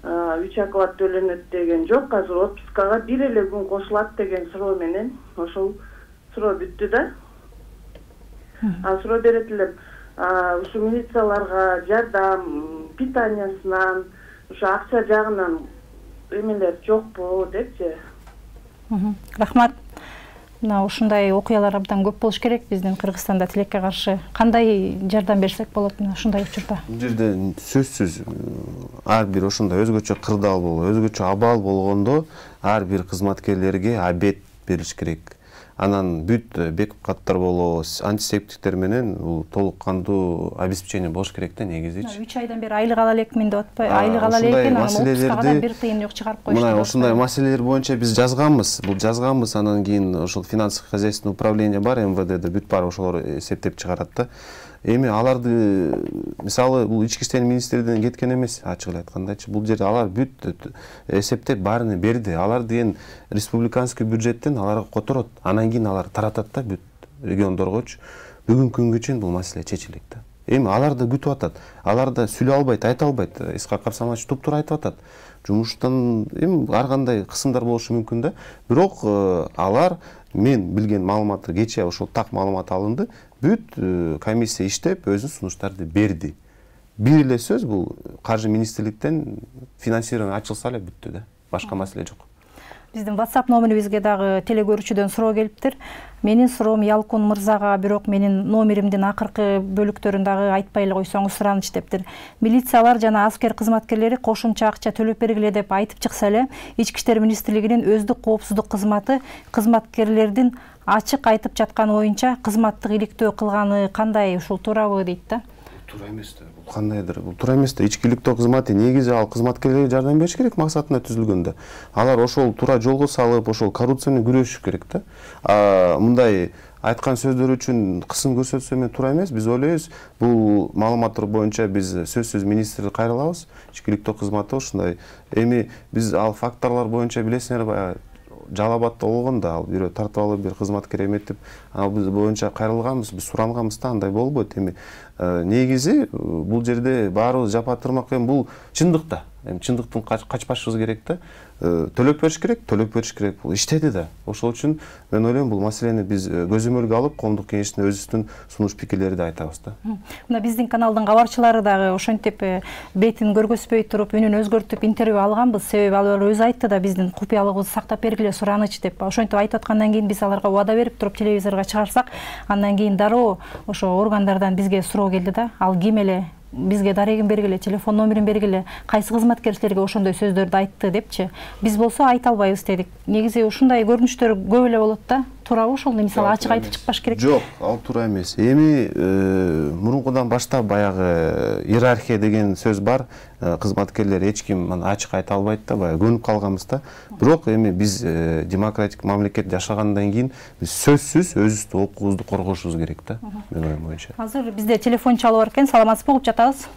3 оклад төлөнөт деген жок. Азыр отпускага 1 эле күн кошулат деген суроо менен ошол суроо бүттү да. Суроо берет элем. Ушу милицияларга жардам, питаниясынан, ушу акча жагынан эмелер жокпу депчи. Рахмат. Мына ушундай окуялар абдан көп болуш керек биздин Кыргызстанда тилекке каршы. Кандай жардам берсек болот мына ушундай учурда? Бул жерде сөзсүз ар бир ошондой өзгөчө кырдаал болуп, өзгөчө абал болгондо ар бир кызматкерлерге обед бериш керек. Анан бүт бек каттар болобу, антисептиктер менен бул толук кандуу обеспечение болуш керек да негизичи. 3 айдан бери айлык ала элекмин деп атпай, айлык ала элекин, анан отпускага бир тыйын жок чыгарып коюшту. Мына ушундай маселелер боюнча биз жазганбыз, анан кийин ошол финансовый хозяйственное управление бар МВДде, бүт баары ошолор эсептеп чыгарат да. Эми аларды мисалы бул ички иштер министрлигинен кеткен эмес, ачык эле айткандачы. Бул жерде алар бүт эсептеп баарын берди. Алар деген республиканский бюджеттен аларга которот. Анан кийин алар таратат да бүт региондоргочу. Бүгүнкү күнгө чейин бул маселе чечилет да. Эми алар да күтүп атат. Алар да сүйлөй албайт, айта албайт. Исхак Абсаматович туп-туура айтып атат. Жумуштан эми ар кандай кысымдар болушу мүмкүн да. Бирок алар мен билген маалыматты кечээ ошол так маалымат алынды. Бүт комиссия иштеп өзүнүн сунуштарды берди. Бир эле сөз бул каржы министрликтен финансирование ачылса эле бүттү да. Башка маселе жок. Биздин WhatsApp номерибизге дагы телегөрүүчүдөн суроо келиптир. Менин суроом Ялкун мырзага, бирок менин номеримдин акыркы бөлүктөрүн дагы айтпай эле койсоңуз сураныч дептир. Милициялар жана аскер кызматкерлери кошумча акча төлөп бергиле деп айтып чыкса эле, Ички иштер министрлигинин өздүк коопсуздук кызматы кызматкерлердин ачык айтып жаткан оюнча кызматтык иликтөө кылганы кандай, ушул туурабы дейт да? Туура эмес да. Бул кандайдыр? Бул туура эмес да. Ички иликтөө кызматы негизи ал кызматкерлерге жардам бериш керек максатына түзүлгөндө. Алар ошол туура жолго салып, ошол коррупция менен күрөшүш керек да. Мындай айткан сөздөр үчүн кысым көрсөтсө мен туура эмес. Биз ойлойбуз, бул маалыматтар боюнча биз сөзсүз министрге кайрылабыз. Ички иликтөө кызматы ушундай. Эми биз ал факторлор боюнча билесиңер баягы Жалал Абадта болгондо ал бирөө тартып алып бир кызматкер эметип, ал биз боюнча кайрылганбыз, биз суранганбыз да, андай болбойт. Эми негизи бул жерде баарыбыз жапатырмак эми бул чындык да. Эми чындыктан качпашыбыз керек да. Төлөп бериш керек, бул иштеди да. Ошол үчүн мен ойлойм бул маселени биз көзөмөлгө алып, коомдук кеңештин өзүбүздүн сунуш пикирлерди айтабыз да. Мына биздин каналдын кабарчылары дагы ошентип бетин көргөзбөй туруп, үнүн өзгөртүп интервью алганбыз. Себеби алар өзү айтты да, биздин купуялыгыбызды сактап бергиле сураныч деп. Ошентип айтып аткандан кийин биз аларга убада берип туруп телевизорго чыгарсак, андан кийин дароо ошо органдардан бизге суроо келди да. Ал ким эле? Бизге дарегин бергиле, телефон номерин бергиле, кайсы кызматкер силерге ошондой сөздөрдү айтты депчи. Биз болсо айта албайбыз дедик. Негизи ушундай көрүнүштөр көп эле болот да. туурабы ошол мисалы ачык айтып чыкпаш керек? Жок, ал туура эмес. Эми мурункудан баштап баягы иерархия деген сөз бар. Кызматкерлер эч ким ачык айта албайт да, баягы көнүп калганбыз да. Бирок эми биз демократик мамлекет жашагандан кийин биз сөзсүз өзүбүздүн укугубузду коргошубуз керек да, менин оюм боюнча. Азыр бизде телефон чалып бар экен. Саламатсызбы, угуп жатабыз.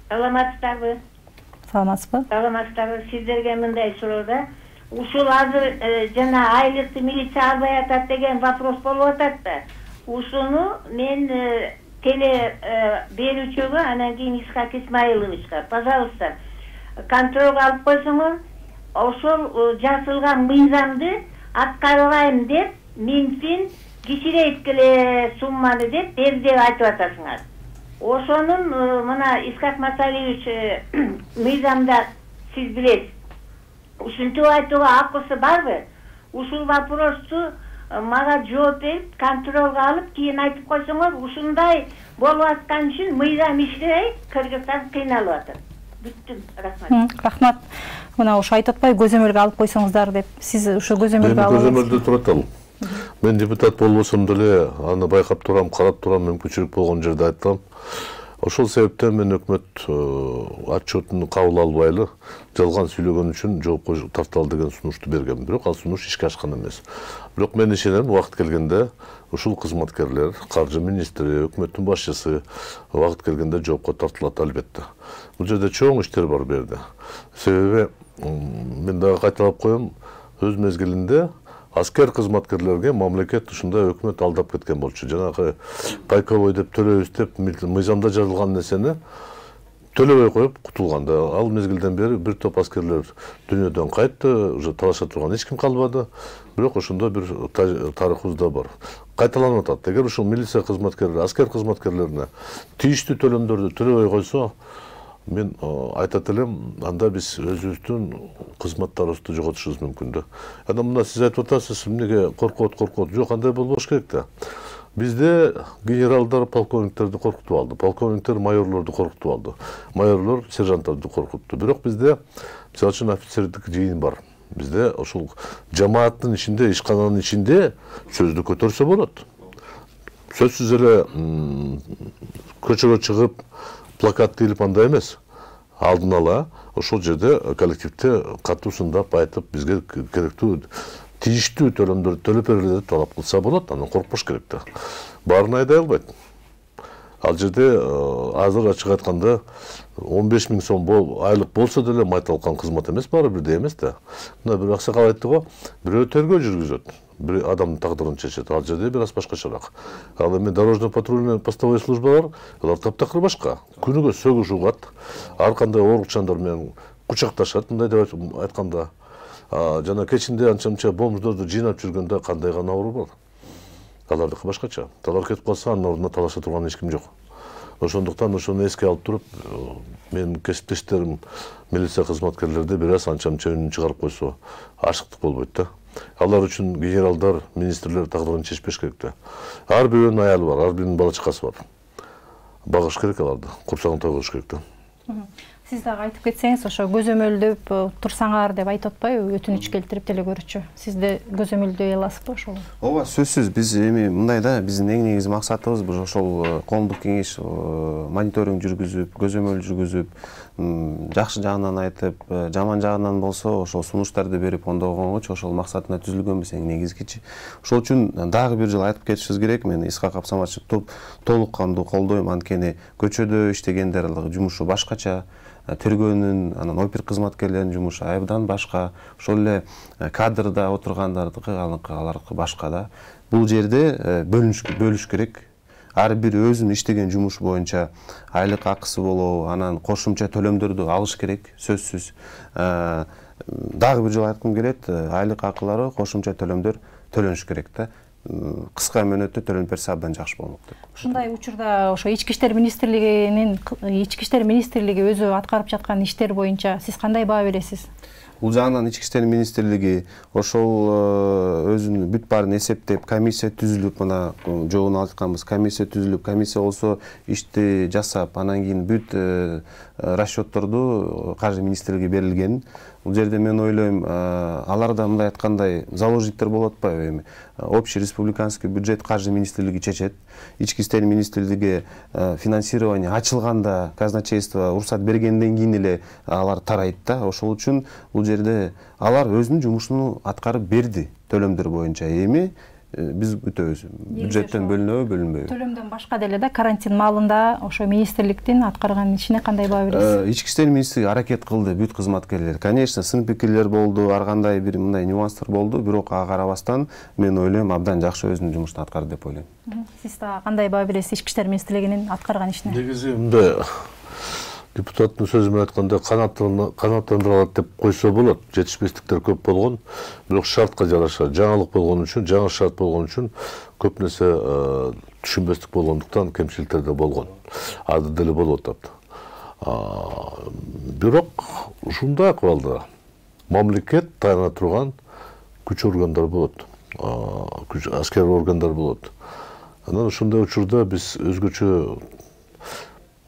Саламатсыздарбы? Саламатсызбы? Саламатсыздарбы. Сиздерге мындай суроо да. Ушул азыр жана айлыкты милиция албай атат деген вопрос болуп атат да. Ушуну мен теле берүүчүгө, анан кийин Исхак Исмаиловичка, пожалуйста, контролго алып койсоңор, ошол жазылган мыйзамды аткарбайм деп, Минфин кичирейткиле сумманы деп берди деп айтып атасыңар. Ошонун мына Исхак Масалиевич мыйзамда сиз билесиз. Ушинтип айтууга акысы барбы? Ушул вопросту мага жооп берип, контролго алып, кийин айтып койсоңор, ушундай болуп аткан үчүн мыйзам иштебей, Кыргызстан кыйналып атат. Бүттүм, рахмат. Рахмат. Мына ошо айтып атпайбы, көзөмөлгө алып койсоңуздар деп. Сиз ошо көзөмөлгө алып. Көзөмөлдө турат ал. Мен депутат болбосом деле аны байкап турам, карап турам, мүмкүнчүлүк болгон жерде айтам. Ошол себептен мен өкмөт отчетун кабыл албайлы жалган сүйлөгөн үчүн жоопко тарталы деген сунушту бергем. Бирок ал сунуш ишке ашкан эмес. Бирок мен ишенем, убакыт келгенде ушул кызматкерлер, каржы министри, өкмөттүн башчысы убакыт келгенде жоопко тартылат албетте. Бул жерде чоң иштер бар бу жерде. Себеби мен дагы кайталап коем, өз мезгилинде аскер кызматкерлерге мамлекет ушундай өкмөт алдап кеткен болчу. Жанагы пайковой деп төлөбүз деп мыйзамда жазылган нерсени төлөбөй коюп кутулганда, ал мезгилден бери бир топ аскерлер дүйнөдөн кайтты, уже талаша турган эч ким калбады. Бирок ошондой бир тарыхыбызда бар. Кайталанып атат. Эгер ушул милиция кызматкерлери, аскер кызматкерлерине тийиштүү төлөмдөрдү төлөбөй койсо, мен айтат элем, анда биз өзүбүздүн кызматтарыбызды жоготушубуз мүмкүн да. Анан мына сиз айтып атасыз, эмнеге коркот. Жок, андай болбош керек да. Бизде генералдар полковниктерди коркутуп алды, полковниктер майорлорду коркутуп алды, майорлор сержанттарды коркутту. Бирок бизде мисалы үчүн офицердик жыйын бар. Бизде ошол жамааттын ичинде, ишкананын ичинде сөздү көтөрсө болот. Сөзсүз эле көчөгө чыгып плакат илип андай эмес. Алдын ала ошол жерде коллективде катуу сындап айтып, бизге керектүү тийиштүү төлөмдөрдү төлөп бергиле деп талап кылса болот, анан коркпош керек да. Баарын айдай албайт. Ал жерде азыр ачык айтканда 15 000 сом айлык болсо деле майталкан кызмат эмес, баары бирдей эмес да. Мына бир аксакал айтты го, бирөө тергөө жүргүзөт, бир адамдын тагдырын чечет. Ал жерде бир аз башкачараак. Ал эми дорожно-патрульный постовой службалар, алар таптакыр башка. Күнүгө сөгүш угат, ар кандай оорукчандар менен кучакташат, мындай деп айтканда. Жана кечинде анча-мынча бомждорду жыйнап жүргөндө кандай гана оору бар. Алардыкы башкача. Алар кетип калса, анын ордуна талаша турган эч ким жок. Ошондуктан ошону эске алып туруп, менин кесиптештерим милиция кызматкерлерди бир аз анча-мынча үнүн чыгарып койсо, ашыктык болбойт да. Алар үчүн генералдар, министрлер тагдырын чечпеш керек да. Ар бирөөнүн аялы бар, ар биринин бала чакасы бар. Багыш керек аларды, курсагын тойгош керек да. Сиз дагы айтып кетсеңиз, ошо көзөмөлдөп турсаңар деп айтып атпайбы, өтүнүч келтирип деле көрүүчү. Сизде көзөмөлдөй аласызбы ошол? Ооба, сөзсүз. Биз эми мындай да, биздин эң негизги максатыбыз бул ошол коомдук кеңеш мониторинг жүргүзүп, көзөмөл жүргүзүп, жакшы жагынан айтып, жаман жагынан болсо ошол сунуштарды берип ондогонгочу ошол максатына түзүлгөнбүз эң негизгичи. Ошол үчүн дагы бир жыл айтып кетишибиз керек. Мен Исхак Абсаматовичти толук кандуу колдойм. Анткени көчөдө иштегендер жумушу башкача, тергөөнүн, анан опер кызматкерлеринин жумушу абдан башка. Ошол эле кадрда отургандардыкы, алардыкы башка да. Бул жерде бөлүш керек. Ар бир өзүнүн иштеген жумушу боюнча айлык акысы болобу, анан кошумча төлөмдөрдү алыш керек, сөзсүз. Дагы бир жолу айткым келет, айлык акылары, кошумча төлөмдөр төлөнүш керек да. Кыска мөөнөттө төлөнүп берсе абдан жакшы болмок деп. Ушундай учурда ошо Ички иштер министрлиги өзү аткарып жаткан иштер боюнча сиз кандай баа бересиз? Бул жагынан Ички иштер министрлиги ошол өзүнүн бүт баарын эсептеп, комиссия түзүлүп, мына жоогун айтканбыз, комиссия түзүлүп, комиссия болсо ишти жасап, анан кийин бүт расчетторду каржы министрлиги берилген. Бул жерде мен ойлойм, аларда мындай айткандай заложниктер болуп атпайбы эми. Общий республиканский бюджет каржы министрлиги чечет. Ички иштер министрлиги финансирование ачылганда казначейство уруксат бергенден кийин эле алар тарайт да. Ошол үчүн бул жерде алар өзүнүн жумушун аткарып берди төлөмдөр боюнча. Эми биз күтөбүз. Бюджеттен бөлүнбөйбү? Төлөмдөн башка деле да карантин маалында ошо министрликтин аткарган ишине кандай баа бересиз? Ички иштер министрлиги аракет кылды бүт кызматкерлер. Конечно, сын пикирлер болду, ар кандай бир мындай нюанстар болду, бирок ага карабастан мен ойлойм абдан жакшы өзүнүн жумушун аткарды деп ойлойм. Сиз да кандай баа бересиз ички иштер министрлигинин аткарган ишине? Негизи мындай депутаттын сөзү менен айтканда канааттандыралат деп койсо болот. Жетишпестиктер көп болгон, бирок шартка жараша жаңылык болгон үчүн, жаңы шарт болгон үчүн көп нерсе түшүнбестик болгондуктан кемчиликтер да болгон. Азыр деле болуп атат. Бирок ушундай акыбалда мамлекет тайына турган күч органдар болот. Аскер органдар болот. Анан ушундай учурда биз өзгөчө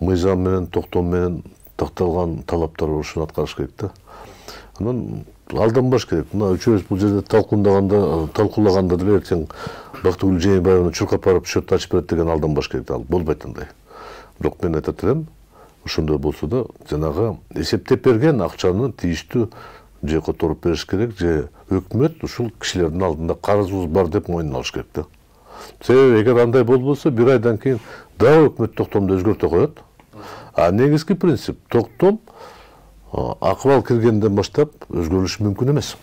мыйзам менен, токтом менен такталган талаптар ушуну аткарыш керек да. Анан алданбаш керек. Мына үчөөбүз бул жерде талкуулаганда деле эртең Бактыгүл Жээнбаевна чуркап барып счет ачып берет деген алданбаш керек. Ал болбойт андай. Бирок мен айтат элем, ошондой болсо да жанагы эсептеп берген акчаны тийиштүү же которуп бериш керек, же өкмөт ушул кишилердин алдында карызыбыз бар деп мойнуна алыш керек да. Себеби эгер андай болбосо, бир айдан кийин дагы өкмөт токтомду өзгөртө коет. Негизги принцип токтом акыбал киргенден баштап өзгөрүлүшү мүмкүн эмес.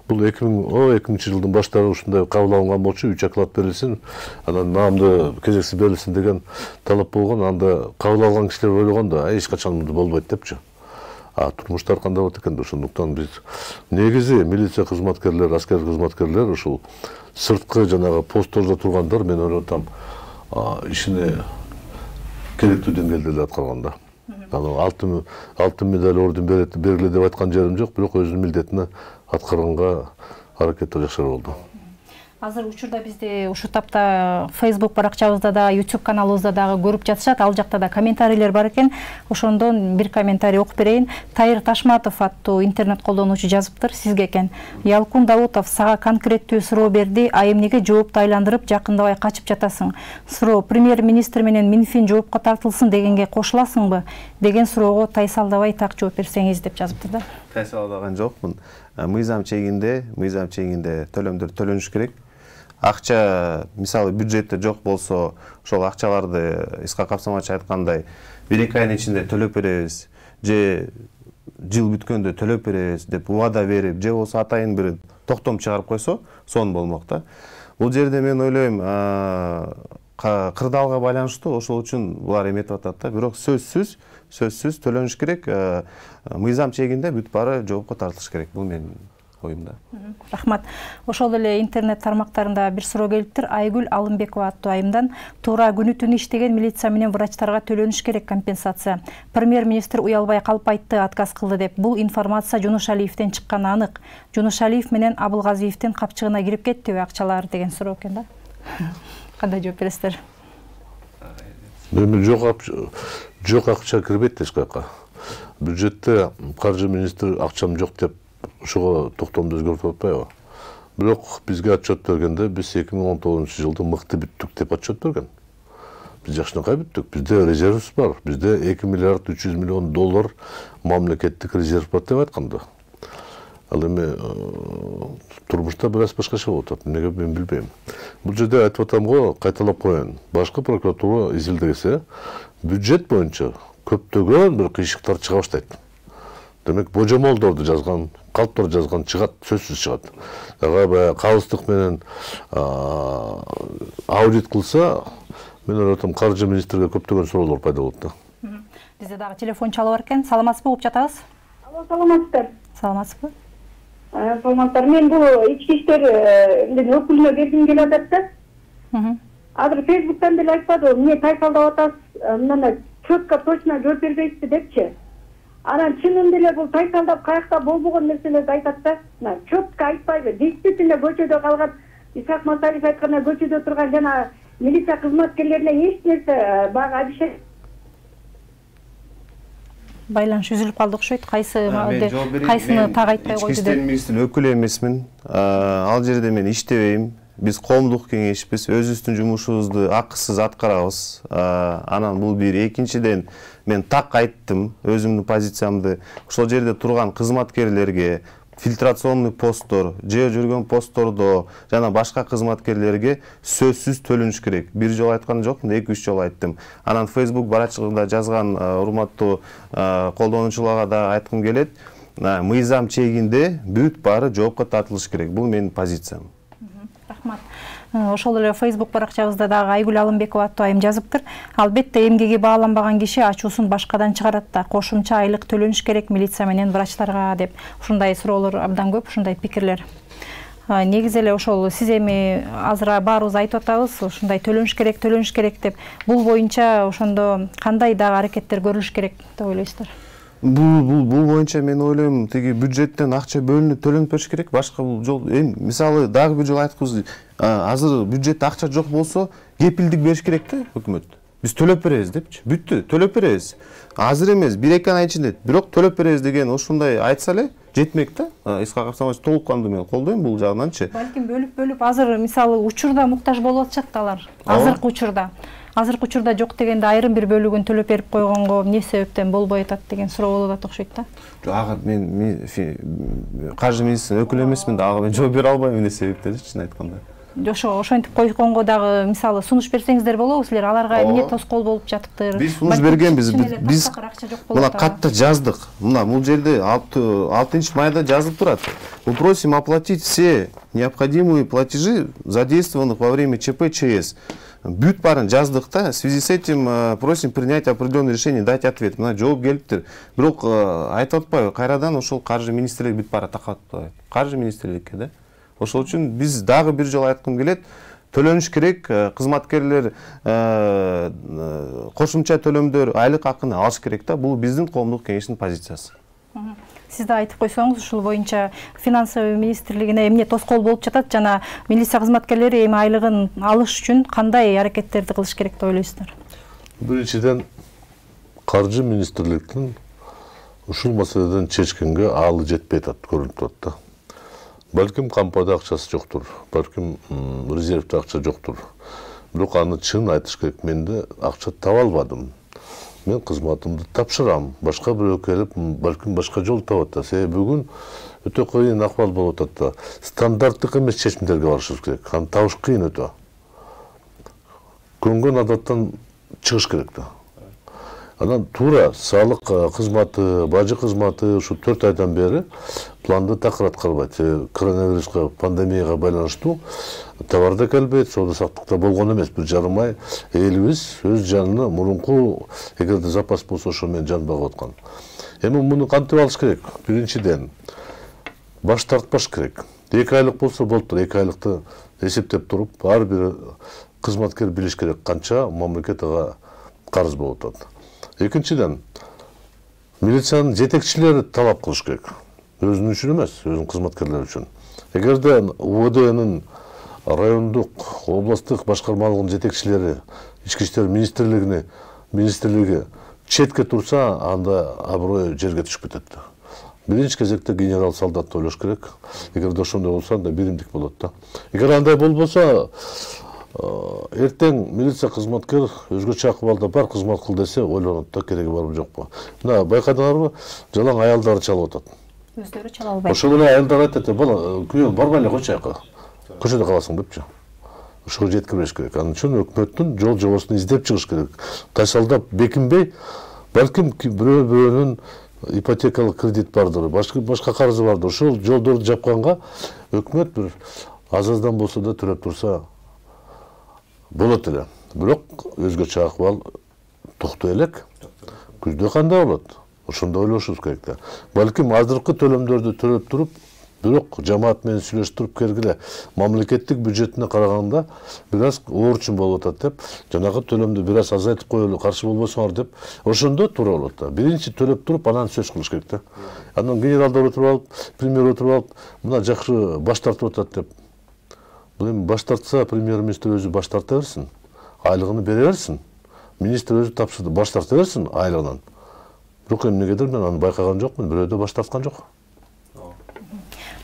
Бул 2000 жылдын баштары ушундай кабыл алынган болчу, 3 оклад берилсин, анан наамды кезексиз берилсин деген талап болгон. Анда кабыл алган кишилер ойлогондо, эч качан мындай болбойт депчи. Турмуштар кандай болот экен? Ошондуктан биз негизи милиция кызматкерлер, аскер кызматкерлер ушул сырткы жанагы посттордо тургандар, мен ойлотам, ишине керектүү деңгээлде эле аткарган да. Алтын медаль, орден бергиле деп айткан жерим жок, бирок өзүнүн милдетине аткарганга аракеттер жакшырак болду. Азыр учурда бизди ушу тапта Facebook баракчабызда да, YouTube каналыбызда дагы көрүп жатышат. Ал жакта да комментарийлер бар экен. Ошондон бир комментарий окуп берейин. Тайыр Ташматов аттуу интернет колдонуучу жазыптыр сизге экен. Ялкун Даутов сага конкреттүү суроо берди. Эмнеге жоопту айландырып жакындабай качып жатасың? Суроо премьер-министр менен Минфин жоопко тартылсын дегенге кошуласыңбы? Деген суроого тайсалдабай так жооп берсеңиз деп жазыптыр да. Тайсалдаган жокмун. Мыйзам чегинде төлөмдөр төлөнүш керек. Акча, мисалы бюджетте жок болсо, ошол акчаларды Исхак Капсаматович айткандай 1-2 айдын ичинде төлөп беребиз, же жыл бүткөндө төлөп беребиз деп убада берип, же болсо атайын бир токтом чыгарып койсо, сонун болмок да. Бул жерде мен ойлойм, кырдаалга байланыштуу, ошол үчүн булар эметип атат да. Бирок сөзсүз төлөнүш керек. Мыйзам чегинде бүт баары жоопко тартылыш керек. Бул менин оюмда. Рахмат. Ошол эле интернет тармактарында бир суроо келиптир. Айгүл Алымбекова аттуу айымдан туура күнү түнү иштеген милиция менен врачтарга төлөнүш керек компенсация. Премьер-министр уялбай калып айтты, отказ кылды деп. Бул информация Жунушалиевден чыкканы анык. Жунушалиев менен Абылгазиевдин капчыгына кирип кеттиби акчалар деген суроо экен да. Кандай жооп бересиздер? Жок акча кирбейт эч каяка. Бюджетте каржы министри акчам жок деп ошого токтомду өзгөртүп атпайбы? Бирок бизге отчет бергенде биз 2019 жылды мыкты бүттүк деп отчет берген. Биз жакшынакай бүттүк. Бизде резервибиз бар. Бизде 2 миллиард 300 миллион доллар мамлекеттик резерв бар деп айтканда. Ал эми турмушта бир аз башкача болуп атат. Эмнеге мен билбейм. Бул жерде айтып атам го, кайталап коеюн. Башкы прокуратура изилдесе, бюджет боюнча көптөгөн бир кыйшыктар чыга баштайт. Демек, божомолдорду жазган, калптар жазган чыгат, сөзсүз чыгат. Ага кабыздык менен аудит кылса, мен ойлотом каржы министрге көптөгөн суроолор пайда болот да. Бизде дагы телефон чалып бар экен. Саламатсызбы, угуп жатабыз? Алло, саламатсыздар. Саламатсызбы? Саламаттар. Мен бул ички иштердин өкүлүнө бергим келип атат да. Азыр Facebooктан деле айтпады, эмне тайсалдап атасыз, мына четко точно жооп бербейсизби депчи. Анан чынында эле бул тайсалдап каякта болбогон нерселерди айтат да. Четко айтпайбы. Действительно көчөдө калган Исхак Масалиев айткандай көчөдө турган жана милиция кызматкерлерине эч нерсе баягы обещание. байланыш үзүлүп калды окшойт. Кайсыны так айтпай койду деп. Ички иштер министринин өкүлү эмесмин. Ал жерде мен иштебейм. Биз коомдук кеңешпиз, өзүбүздүн жумушубузду акысыз аткарабыз. Анан бул бир. Экинчиден, мен так айттым өзүмдүн позициямды. Ошол жерде турган кызматкерлерге, фильтрационный посттор, жүргөн посттордо жана башка кызматкерлерге сөзсүз төлөнүш керек. Бир жолу айткан жокмун, 2-3 жолу айттым. Анан Facebook барачыгында жазган урматтуу колдонуучуларга да айткым келет. Мыйзам чегинде бүт баары жоопко тартылыш керек. Бул менин позициям. Рахмат. Ошол эле Facebook баракчабызда дагы Айгүл Алымбекова аттуу айым жазыптыр. Албетте эмгеги бааланбаган киши ачуусун башкадан чыгарат да. Кошумча айлык төлөнүш керек милиция менен врачтарга деп. Ушундай суроолор абдан көп, ушундай пикирлер. Негизи эле ошол сиз эми азыр баарыбыз айтып атабыз, ушундай төлөнүш керек деп. Бул боюнча ошондо кандай дагы аракеттер көрүлүш керек деп ойлойсуздар? Бул боюнча мен ойлойм, тиги бюджеттен акча бөлүнүп төлөнүп бериш керек. Башка бул жол мисалы дагы бир жолу айткыбыз, азыр бюджетте акча жок болсо, кепилдик бериш керек да өкмөт. Биз төлөп беребиз депчи. Бүттү, төлөп беребиз. Азыр эмес, 1-2 ай ичинде, бирок төлөп беребиз деген ушундай айтса эле жетмек да. Исхак Абсамович толук кандуу мен колдойм бул жагынанчы. Балким бөлүп азыр мисалы учурда муктаж болуп атышат алар. Азыркы учурда жок дегенде айрым бир бөлүгүн төлөп берип койгонго эмне себептен болбой атат деген суроо болуп атат окшойт да. Ага мен каржы министринин өкүлү эмесмин да, ага мен жооп бере албайм эмне себептен, чын айтканда. Ошентип койгонго дагы мисалы сунуш берсеңиздер болобу силер, аларга эмне тоскоол болуп жатыптыр? Биз сунуш бергенбиз, биз мына катта жаздык. Мына бул жерде 6-майда жазылып турат. Мы просим оплатить все необходимые платежи, задействованных во время ЧП ЧС. Бүт барын жаздык да, в связи с этим просим принять определенное решение, дать ответ. Мына жооп келиптир. Бирок айтып атпайбы, кайрадан ошол каржы министрлиги бүт баары такап атпайбы? Каржы министрликке да. Ошол үчүн биз дагы бир жолу айткым келет, төлөнүш керек, кызматкерлер кошумча төлөмдөр, айлык акыны алыш керек да. Бул биздин коомдук кеңештин позициясы. Сиз да айтып койсоңуз, ушул боюнча финансовый министрлигине эмне тоскоол болуп жатат жана милиция кызматкерлери эми айлыгын алыш үчүн кандай аракеттерди кылыш керек деп ойлойсуздар? Биринчиден, каржы министрликтин ушул маселеден чечкенге аалы жетпей атат, көрүнүп турат да. Балким кампада акчасы жоктур, балким резервде акча жоктур. Бирок аны чын айтыш керек, менде акча таба албадым. Мен кызматымды тапшырам. Башка бирөө келип, балким башка жол табат да. Себеби бүгүн өтө кыйын акыбал болуп атат да. Стандарттык эмес чечимдерге барышыбыз керек. Аны табыш кыйын өтө. Көнгөн адаттан чыгыш керек да. Анан туура салык кызматы, бажы кызматы ушу 4 айдан бери планды такыр аткарбайт. Коронавируска, пандемияга байланыштуу товарда келбейт, соода саттыкта болгон эмес. 1,5 ай элибиз өз жанына мурунку эгерде запас болсо ошо менен жан багып аткан. Эми муну кантип алыш керек? Биринчиден баш тартпаш керек. 2 айлык болсо болуптур. 2 айлыкты эсептеп туруп, ар бир кызматкер билиш керек канча мамлекет ага карыз болуп атат. Экинчиден, милициянын жетекчилери талап кылыш керек. Өзүнүн үчүн эмес, өзүнүн кызматкерлери үчүн. Эгерде УВДнын райондук, областтык башкармалыгынын жетекчилери ички иштер министрлиги четке турса, анда аброй жерге түшүп кетет. Биринчи кезекте генерал солдатты ойлош керек. Эгерде ошондой болсо, анда биримдик болот да. Эгер андай болбосо, эртең милиция кызматкер өзгөчө акыбалда бар кызмат кыл десе ойлонот да, кереги барбы жокпу. Мына байкадыңарбы, жалаң аялдары чалып атат. Өздөрү чала албайт. Ошол эле аялдар айтат, бала, күйөө барбай эле койчу жака. Көчөдө каласың депчи. Ошого жеткириш керек. Анын үчүн өкмөттүн жол жобосун издеп чыгыш керек. Тайсалдап бекинбей, балким бирөөнүн ипотекалык кредит бардыр, башка карызы бардыр. Ошол жолдорду жапканга өкмөт бир аздан болсо да төлөп турса болот эле. Бирок өзгөчө акыбал токтой элек. Күздө кандай болот? Ошондо ойлошубуз керек да. Балким азыркы төлөмдөрдү төлөп туруп, бирок жамаат менен сүйлөштүрүп кергиле мамлекеттик бюджетине караганда бир аз оорчун болуп атат деп, жанагы төлөмдү бир аз азайтып коелу, каршы болбосоңор деп, ошондо туура болот да. Биринчи төлөп туруп, анан сөз кылыш керек да. Анан генералдар отуруп алып, премьер отуруп алып, мына жакшы баш тартып атат деп. Бул эми баш тартса, премьер-министр өзү баш тарта берсин, айлыгын бере берсин. Министр өзү тапшырды, баш тарта берсин айлыгынан. Бирок эмнегедир мен аны байкаган жокмун, бирөө да баш тарткан жок.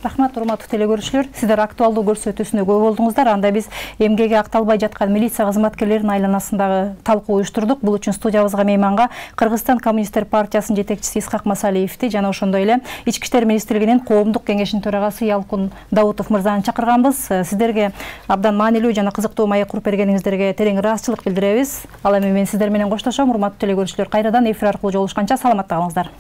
Рахмат, урматтуу телекөрүүчүлөр. Сиздер актуалдуу көрсөтүүсүнө көп болдуңуздар. Анда биз эмгеге акталбай жаткан милиция кызматкерлеринин айланасындагы талкуу уюштурдук. Бул үчүн студиябызга мейманга Кыргызстан Коммунисттер партиясынын жетекчиси Исхак Масалиевди жана ошондой эле Ички иштер министрлигинин коомдук кеңешинин төрагасы Ялкын Даутов мырзаны чакырганбыз. Сиздерге абдан маанилүү жана кызыктуу маек куруп бергениңиздерге терең ыраазычылык билдиребиз. Ал эми мен сиздер менен коштошом. Урматтуу телекөрүүчүлөр, кайрадан эфир аркылуу жолугушканча саламатта калыңыздар.